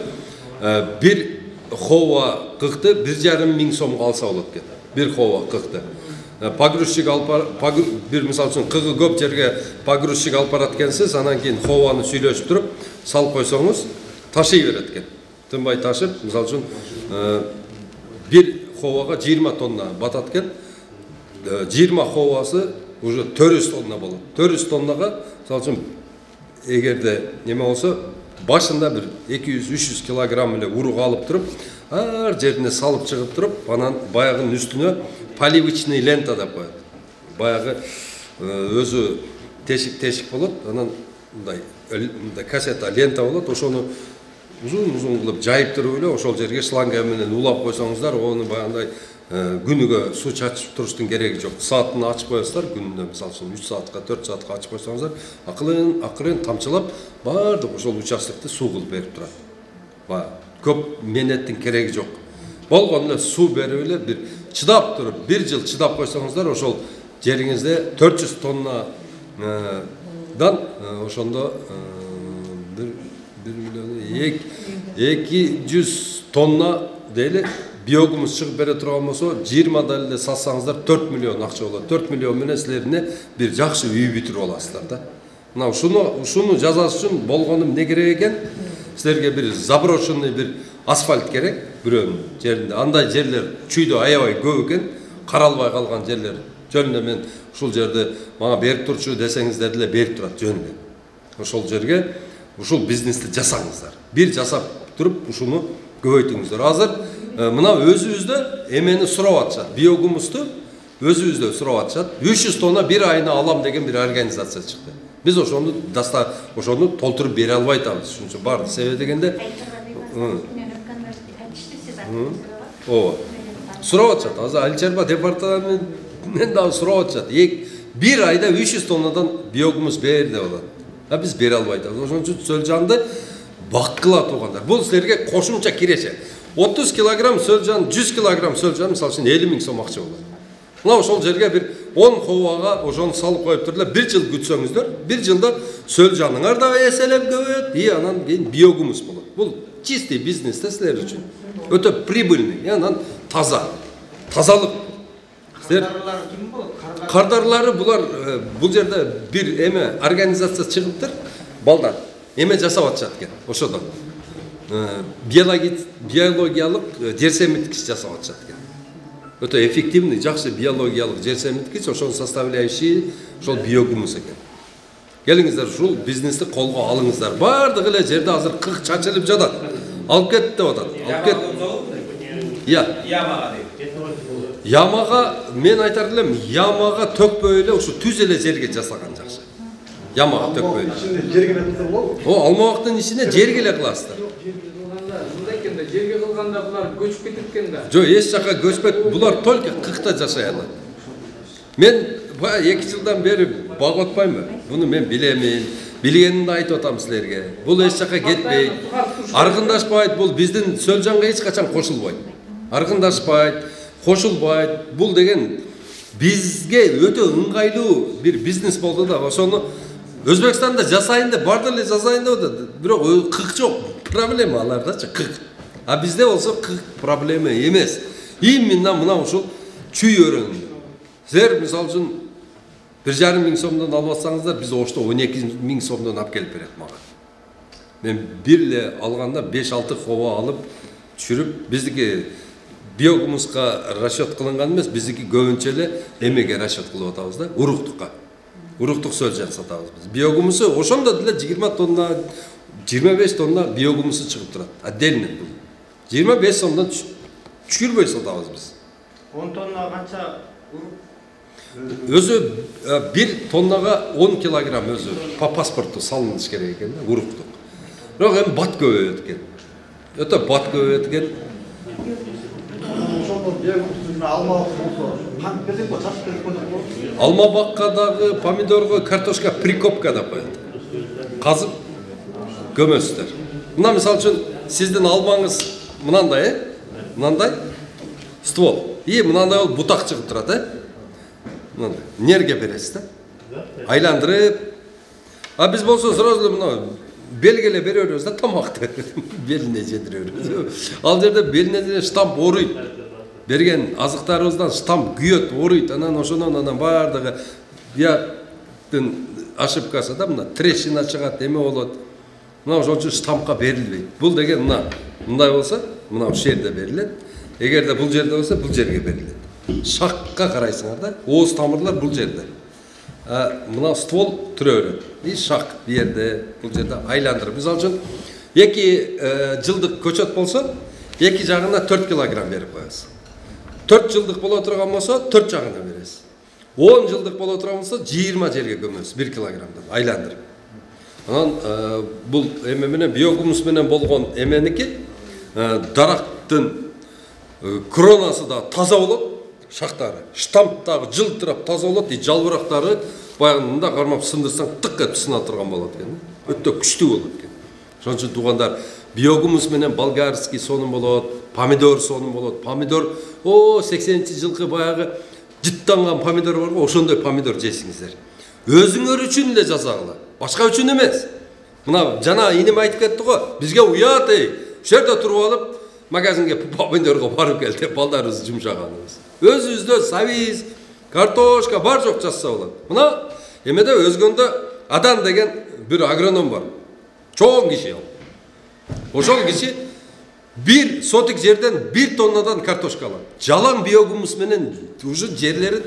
Speaker 1: бир хова кыкты бир жарым миң сомго алса болот экен. Бир хова кыкты. Погрузчик алып бир мисалы үчүн кыгы көп жерге погрузчик алып барат экенсиз, анан кийин хованы сүйлөшүп туруп салып койсоңуз ташый берет экен. Тынбай ташып, мисалы үчүн бир ховага жыйырма тонна батат экен. жыйырма ховасы уже төрт жүз тонна болот. төрт жүз тоннага мисалы үчүн эгерде неме болсо, башында бир эки жүз үч жүз килограмм эле урук алып туруп, ар жерине салып чыгып туруп, анан баягынын үстүнө поливочный лента деп коет. Баягы өзү тешик-тешик болот, анан мындай мындай кассета лента болот, ошону узун-узун кылып жайып туруп эле ошол жерге шланга менен улап койсоңуздар, ону баягындай күнүгө суу чачып туруштун кереги жок. Саатын ачып коесуздар, күнүнө мисалы үчүн үч саатка, төрт саатка ачып койсоңуздар, акырын акырын тамчылап баардык ошол участокты суу кылып берип турат. Баягы көп менеттин кереги жок. болгон эле суу берип эле бир чыдап туруп бир жыл чыдап койсоңуздар ошол жериңизде төрт жүз тоннадан ошондо бир миллион эки жүз тонна дейли биогумус чыгып бере турган болсо жыйырмада эле сатсаңыздар төрт миллион акча болот. төрт миллион менен силерне бир жакшы үй бүтүрүп аласыздар да. Мына ушуну ушуну жасаш үчүн болгону эмне керек экен? Силерге бир заброшенный бир асфальт керек бирөөнүн жеринде. Андай жерлер чүйдө аябай көп экен, каралбай калган жерлер. Жөнүндө мен ушул жерди мага берип турчу десеңиздер деле берип турат жөнүндө. Ошол жерге ушул бизнести жасаңыздар. Бир жасап туруп ушуну көбөйтүңүздөр. Азыр мына өзүбүздө эмени сурап атышат. Биогумусту өзүбүздө сурап атышат. үч жүз тонна бир айына алам деген бир организация чыкты. Биз ошону даста ошону толтуруп бере албай атабыз. Ошон үчүн барды себеби дегенде ооба. Сурап атышат. Азыр Айыл чарба департаментинен дагы сурап атышат. Бир айда үч жүз тоннадан биогумус бер деп атат. А биз бере албай атабыз. Ошон үчүн сөлжанды баккыла туугандар. Бул силерге кошумча киреше. отуз килограмм сөлжан, жүз килограмм сөлжан мисалы үчүн элүү миң сом акча болот. Мына ошол жерге бир он ховага ошону салып коюп туруп эле бир жыл күтсөңүздөр, бир жылда сөлжаныңар да эселеп көбөйөт, и анан кийин биогумус болот. Бул чистый бизнес да силер үчүн. Өтө прибыльный, анан таза. Тазалык. Силер кардарлары булар бул жерде бир эме организация чыгыптыр, балдар. Эме жасап атышат экен ошодон. Биологиялык жер семирткич жасап атышат экен. Өтө эффективный, жакшы биологиялык жер семирткич, ошонун составляющий ошол биогумус экен. Келиңиздер ушул бизнести колго алыңыздар. Бардыгы эле жерде азыр кык чачылып жатат. Алып кет деп атат. Алып кет. Я. Ямага дейт. Ямага мен айтар элем, ямага төкпөй эле ушу түз эле жерге жасаган жакшы. Ямага төкпөй. О, алмабактын ичине жерге эле кыласыздар.
Speaker 8: Жерге кылганда булар көчүп кетет экен да.
Speaker 1: Жок, эч жака көчпөйт. Булар только кыкта жашай алат. Мен эки жылдан бери баг отпаймынбы? Буну мен билемин. Билгенимди айтып атам силерге. Бул эч жака кетпейт. Аргындашпайт, бул биздин сөлжанга эч качан кошулбайт. Аргындашпайт, кошулбайт. Бул деген бизге өтө ыңгайлуу бир бизнес болду да. Ошону Өзбекстанда жасайын деп, барды эле жасайын деп атат. Бирок кык жок. Проблема алардачы кык. А бизде болсо кык проблема эмес. Именно мына ушул чүй өрөөнү. Силер мисалы үчүн бир жарым миң сомдон алып атсаңыздар, биз ошто он эки миң сомдон алып келип берет мага. Мен бир эле алганда беш алты хова алып түшүрүп, биздики биогумуска расчет кылынган эмес, биздики көбүнчө эле эмеге расчет кылып атабыз да, уруктукка. Уруктук сөлжан сатабыз биз. Биогумусу ошондо деле жыйырма тонна, жыйырма беш тонна биогумусу чыгып турат. Отдельно бул. жыйырма беш сомдон түшүрбөй сатабыз биз.
Speaker 9: он тонна канча урук?
Speaker 1: Өзү бир тоннага он килограмм өзү по паспорту салыныш керек экен да, уруктук. Бирок эми бат көбөйөт экен. Өтө бат көбөйөт экен. Алма бакка дагы, помидорго, картошка прикопка деп коет. Казып көмөсүздөр. Мына мисалы үчүн сиздин алмаңыз мынандай, э? Мынандай ствол. И мынандай бол бутак чыгып турат, э? Мынандай. Нерге бересиз да? Айландырып. А биз болсо сразу эле мына белгеле беребиз да тамакты. Белине жетиребиз. Ал жерде белине штамп оруйт. Берген азыктарыбыздан штамп күйөт, оруйт. Анан ошонун анан бардыгы бияктын ошибкасы да мына трещина чыгат, эме болот. Мына ошон үчүн штампка берилбейт. Бул деген мына мындай болсо, мына ушул жерде берилет. Эгерде бул жерде болсо, бул жерге берилет. Шакка карайсыңар да, ооз тамырлар бул жерде. Мына ствол түрө берет. И шак бу жерде, бул жерде айландырып. Мисалы үчүн эки жылдык көчөт болсо, эки жагына төрт килограмм берип коесуз. төрт жылдык боло турган болсо, төрт жагына бересиз. он жылдык боло турган болсо, жыйырма жерге көмөсүз, бир килограммдан айландырып. Анан бул эме менен биогумус менен болгон эменики дарактын кронасы да таза болот, шактары. Штамп дагы жылтырап таза болот, и жалбырактары баягы мында кармап сындырсаң тык этип сына турган болот экен. Өтө күчтүү болот экен. Ошон үчүн туугандар, биогумус менен болгарский сонун болот, помидор сонун болот. Помидор о сексенинчи жылкы баягы жыттанган помидор барго, ошондой помидор жейсиңиздер. Өзүңөр үчүн эле жасагыла, башка үчүн эмес. Мына жана инем айтып кетти го, бизге уят эй, ушул жерде туруп алып магазинге помидорго барып кел деп балдарыбызды жумшаганыбыз. Өзүбүздө сабиз, картошка бар жок жазса болот. Мына эмеде өзгөндө Адан деген бир агроном бар. Чоң киши ал. Ошол киши бир сотик жерден бир тоннадан картошка алат. Жалаң биогумус менен уже жерлерин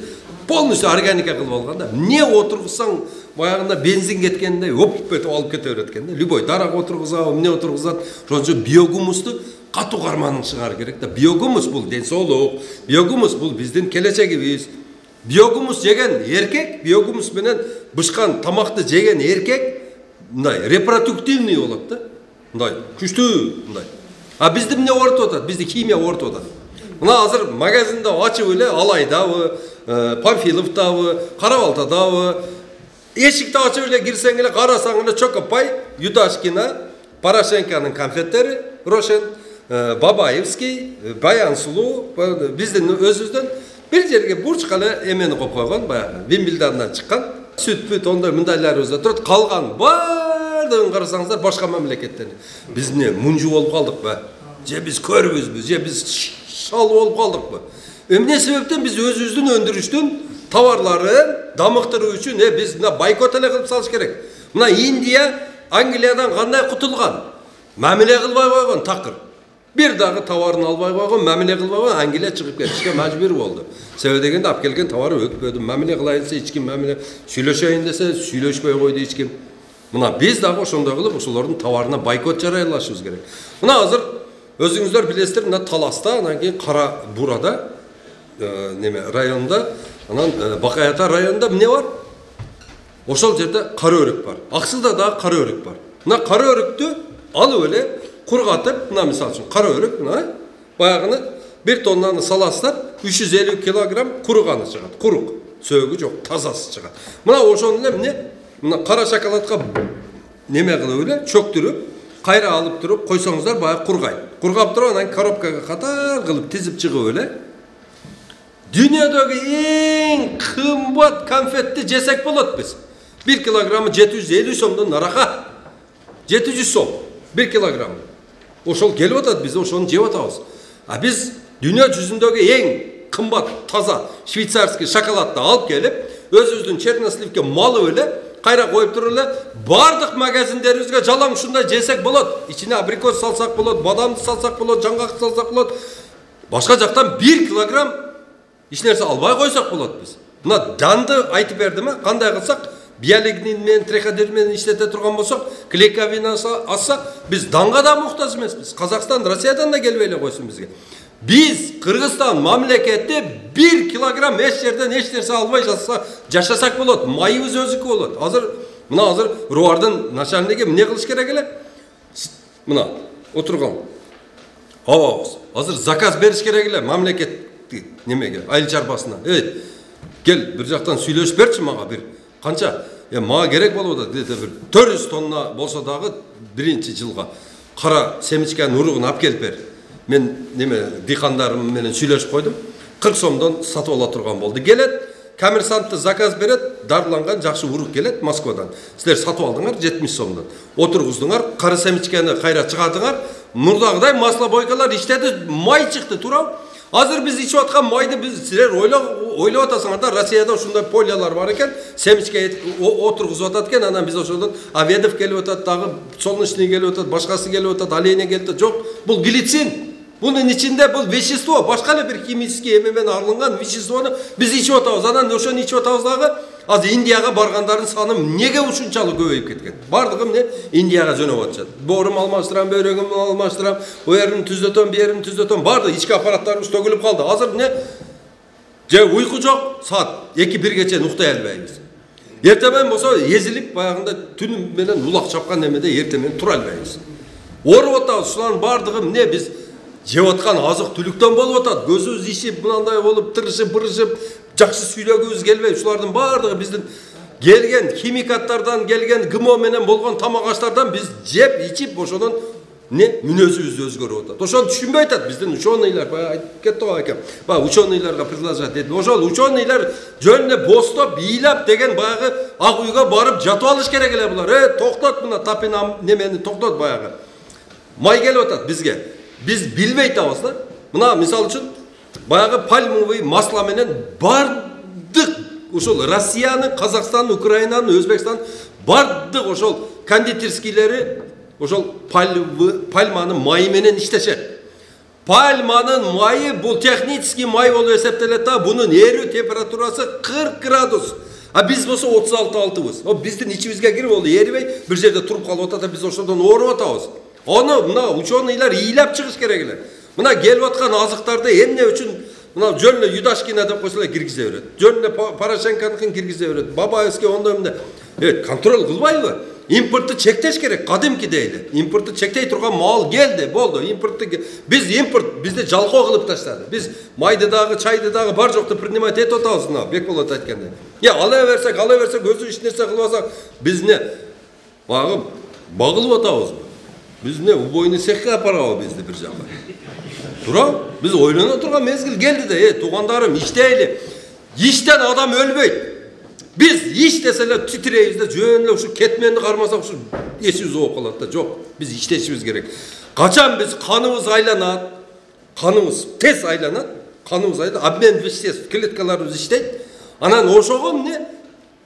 Speaker 1: полностью органика кылып алган да. Не отургузсаң баягында бензин кеткендей оп етип алып кете берет экен да. Любой дарак отургузат, эмне отургузат. Ошончо биогумусту катуу карманын чыгарып керек да. Биогумус бул ден соолук. Биогумус бул биздин келечегибиз. Биогумус жеген эркек, биогумус менен бышкан тамакты жеген эркек мындай репродуктивный болот да. Мындай күчтүү мындай. А бизди эмне оорутуп атат? Бизди химия оорутуп атат. Мына азыр магазинде ачып эле Алайдабы, Памфиловдабы, Карабалтадабы эшикти ачып эле кирсең эле карасаң эле Чокопай, Юташкина, Порошенконун конфеттери, Рошен, Бабаевский, Баян Сулуу, биздин өзүбүздөн бир жерге бурчка эле эмени коюп койгон, баягы Вимбилдандан чыккан сүт-пүт ондай мындайларыбыз да турат. Калган баардыгын карасаңыздар башка мамлекеттерде. Биз эмне мунжу болуп калдыкпы? Же биз көрбүзбү? Же биз шал болуп калдыкпы? Эмне себептен биз өзүбүздүн өндүрүштүн товарларын дамыктыруу үчүн э биз мына бойкот эле кылып салыш керек. Мына Индия Англиядан кандай кутулган? Мамиле кылбай койгон такыр. Бир дагы товарын албай койгон, мамиле кылбай койгон, Англия чыгып кетишке мажбур болду. Себеби дегенде алып келген товары өтпөдү. Мамиле кылайын десе эч ким мамиле, сүйлөшөйүн десе сүйлөшпөй койду эч ким. Мына биз дагы ошондой кылып ошолордун товарына бойкот жарыялашыбыз керек. Мына азыр өзүңүздөр билесиздер, мына Таласта, анан кийин Кара Бурада неме районунда, анан Бакаята районунда эмне бар? Ошол жерде кара өрүк бар. Аксылда дагы кара өрүк бар. Мына кара өрүктү алып эле кургатып, мына мисалы үчүн кара өрүк, мына баягыны бир тоннаны саласыздар, үч жүз элүү килограмм куруганы чыгат. Курук, сөөгү жок, тазасы чыгат. Мына ошону эле эмне? Мына кара шоколадка неме кылып эле чөктүрүп, кайра алып туруп койсоңуздар баягы кургайт. Кургап туруп анан коробкага катар кылып тизип чыгып эле дүйнөдөгү эң кымбат конфетти жесек болот биз. бир килограммы жети жүз элүү сомдон нарака. жети жүз сом бир килограмм. Ошол келип атат, биз ошону жеп атабыз. А биз дүйнө жүзүндөгү эң кымбат таза швейцарский шоколадты алып келип, өзүбүздүн черносливке малып эле, кайра коюп туруп эле бардык магазиндерибизге жалаң ушундай жесек болот. Ичине абрикос салсак болот, бадамды салсак болот, жаңгак салсак болот. Башка жактан бир килограмм эч нерсе албай койсок болот биз. Мына данды айтып бердим, кандай кылсак биолигнин менен триходерм менен иштете турган болсок, клейковина алсак, биз данга да муктаж эмеспиз. Казакстан, Россиядан да келбей эле койсун бизге. Биз Кыргызстан мамлекети бир килограмм эч жерден эч нерсе албай жашасак болот. Майыбыз өзүкү болот. Азыр мына азыр Руардын начальниги эмне кылыш керек эле? Мына отурган абабыз. Азыр заказ бериш керек эле мамлекетти немеге, айыл чарбасына. Эй, кел бир жактан сүйлөшүп берчи мага бир. Канча? Э, мага керек болуп атат. Дете бир төрт жүз тонна болсо дагы биринчи жылга кара семечканын уругун алып келип бер. Мен неме дыйкандарым менен сүйлөшүп койдум. кырк сомдон сатып ала турган болду. Келет, коммерсантты заказ берет, дарыланган жакшы урук келет Москвадан. Силер сатып алдыңар жетимиш сомдон. Отургуздуңар, кара семечканы кайра чыгардыңар. Мурдагыдай масло бойкалар иштеди, май чыкты, туурабы? Азыр биз ичип аткан майды биз силер ойлоп атасыңар да, Россияда ушундай полялар бар экен, семечке отургузуп атат экен, анан биз ошодон Аведов келип атат, дагы Солнечный келип атат, башкасы келип атат, Оленя келип атат. Жок, бул глицин. Бунун ичинде бул вещество, башка эле бир химический эме менен арылган веществону биз ичип атабыз. Анан ошону ичип атабыз дагы. Азыр Индияга баргандардын саны эмнеге ушунчалык көбөйүп кеткен? Бардыгы эмне? Индияга жөнөп атышат. Боорум алмаштырам, бөйрөгүм алмаштырам, о жерин түзөтөм, бу жерин түзөтөм. Бардык ички аппараттарыбыз төгүлүп калды. Азыр эмне? Же уйку жок, саат эки бирге чейин уктай албайбыз. Эртемен болсо эзилип, баягында түн менен улак чапкан эмеде эртемен тура албайбыз. Ооруп атабыз. Шулардын бардыгы эмне? Биз жеп аткан азык түлүктөн болуп атат. Көзүбүз ишип, мындай болуп, тырышып, бырышып, жакшы сүйлөгүбүз келбей, ушулардын бардыгы биздин келген химикаттардан келген ГМО менен болгон тамак аштардан биз жеп, ичип, ошодон эмне мүнөзүбүз өзгөрүп атат. Ошону түшүнбөй атат. Биздин ученыйлар баягы айтып кетти го экен. Баягы ученыйларга предложать этип, ошол ученыйлар жөн эле бостоп, ыйлап деген баягы ак үйгө барып жатып алыш керек эле булар. Э, токтот мына тапина немени токтот баягы. Май келип атат бизге. Биз билбей атабыз да. Мына мисалы үчүн баягы пальмовый масло менен бардык ошол Россиянын, Казакстандын, Украинанын, Өзбекстандын бардык ошол кондитерскийлери ошол пальманын майы менен иштешет. Пальманын майы бул технический май болуп эсептелет да, бунун эрүү температурасы кырк градус. А биз болсо отуз алты алтыбыз. О биздин ичибизге кирип ол эрибей бир жерде туруп калып атат, биз ошондон ооруп атабыз. Оны мына ученыйлар ыйлап чыгыш керек эле. Мына келип аткан азыктарды эмне үчүн мына жөн эле Юдашкина деп койсо эле киргизе берет. Жөн эле Порошенконукун киргизе берет. Бабаевский ондой эмне. Э, контроль кылбайбы? Импортты чектеш керек, кадимкидей эле. Импортты чектей турган мал келди, болду. Импортты биз импорт бизди жалкоо кылып таштады. Биз майды дагы, чайды дагы бар жокто принимать этип атабыз мына Бекболот айткандай. Я ала берсек, ала берсек, өзү эч нерсе кылбасак, биз не багып багылып атабызбы? Биз не убойный цехке апарабы бизди бир жака? Тура, биз ойлоно турган мезгил келди да, э, туугандарым, иштейли. Иштен адам өлбөйт. Biz iş deseler titreyizde jön эле ушу кетменди кармасак ушу эсибиз ооп калат да. Жок, биз иштешибиз керек. Качан биз каныбыз айланат, каныбыз тез айланат, каныбыз айланат, обмен веществ, клеткаларыбыз иштейт. Анан ошого эмне?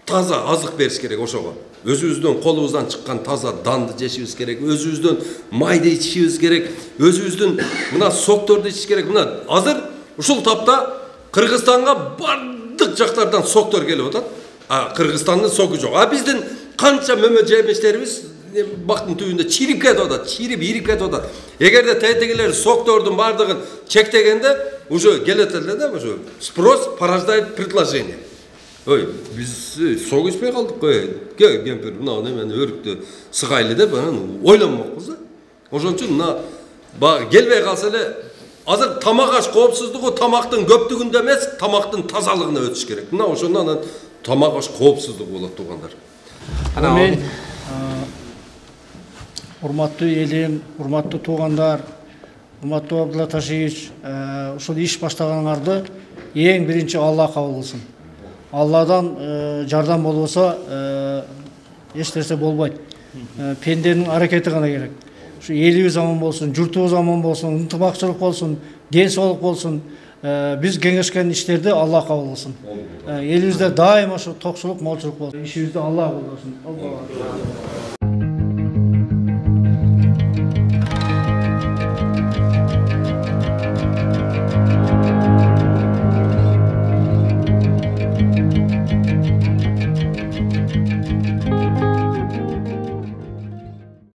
Speaker 1: Таза азык бериш керек ошого. Өзүбүздөн колубуздан чыккан таза данды жешибиз керек, өзүбүздөн майды ичишибиз керек, өзүбүздүн мына сокторду ичиш керек. Мына азыр ушул тапта Кыргызстанга бардык жактардан соктор келип атат. А Кыргызстандын согу жок. А биздин канча мөмө жемиштерибиз бактын түбүндө чирип кетип атат, чирип ирип кетип атат. Эгерде тетегилер соктордун бардыгын чектегенде уже келет эле да, уже спрос порождает предложение. Ой, биз сок ичпей калдык кой. Кемпир мына немени өрүктү сыгайлы деп анан ойлонмокпуз да. Ошон үчүн мына баягы келбей калса эле азыр тамак аш коопсуздугу тамактын көптүгүндө эмес, тамактын тазалыгына өтүш керек. Мына ошондон анан тамак аш коопсуздугу болот туугандар.
Speaker 7: Мен урматтуу элим, урматтуу туугандар, урматтуу Абдулла Ташиевич, ушул иш баштаганыңарды эң биринчи Алла кабыл кылсын. Алладан жардам болбосо эч нерсе болбойт. Пенденин аракети гана керек. Ушу элибиз аман болсун, журтубуз аман болсун, ынтымакчылык болсун, ден соолук болсун. Биз кеңешкен иштерди Алла кабыл кылсын. Элибизде дайыма ошо токчулук, молчулук болсун. Ишибизди Алла кабыл кылсын.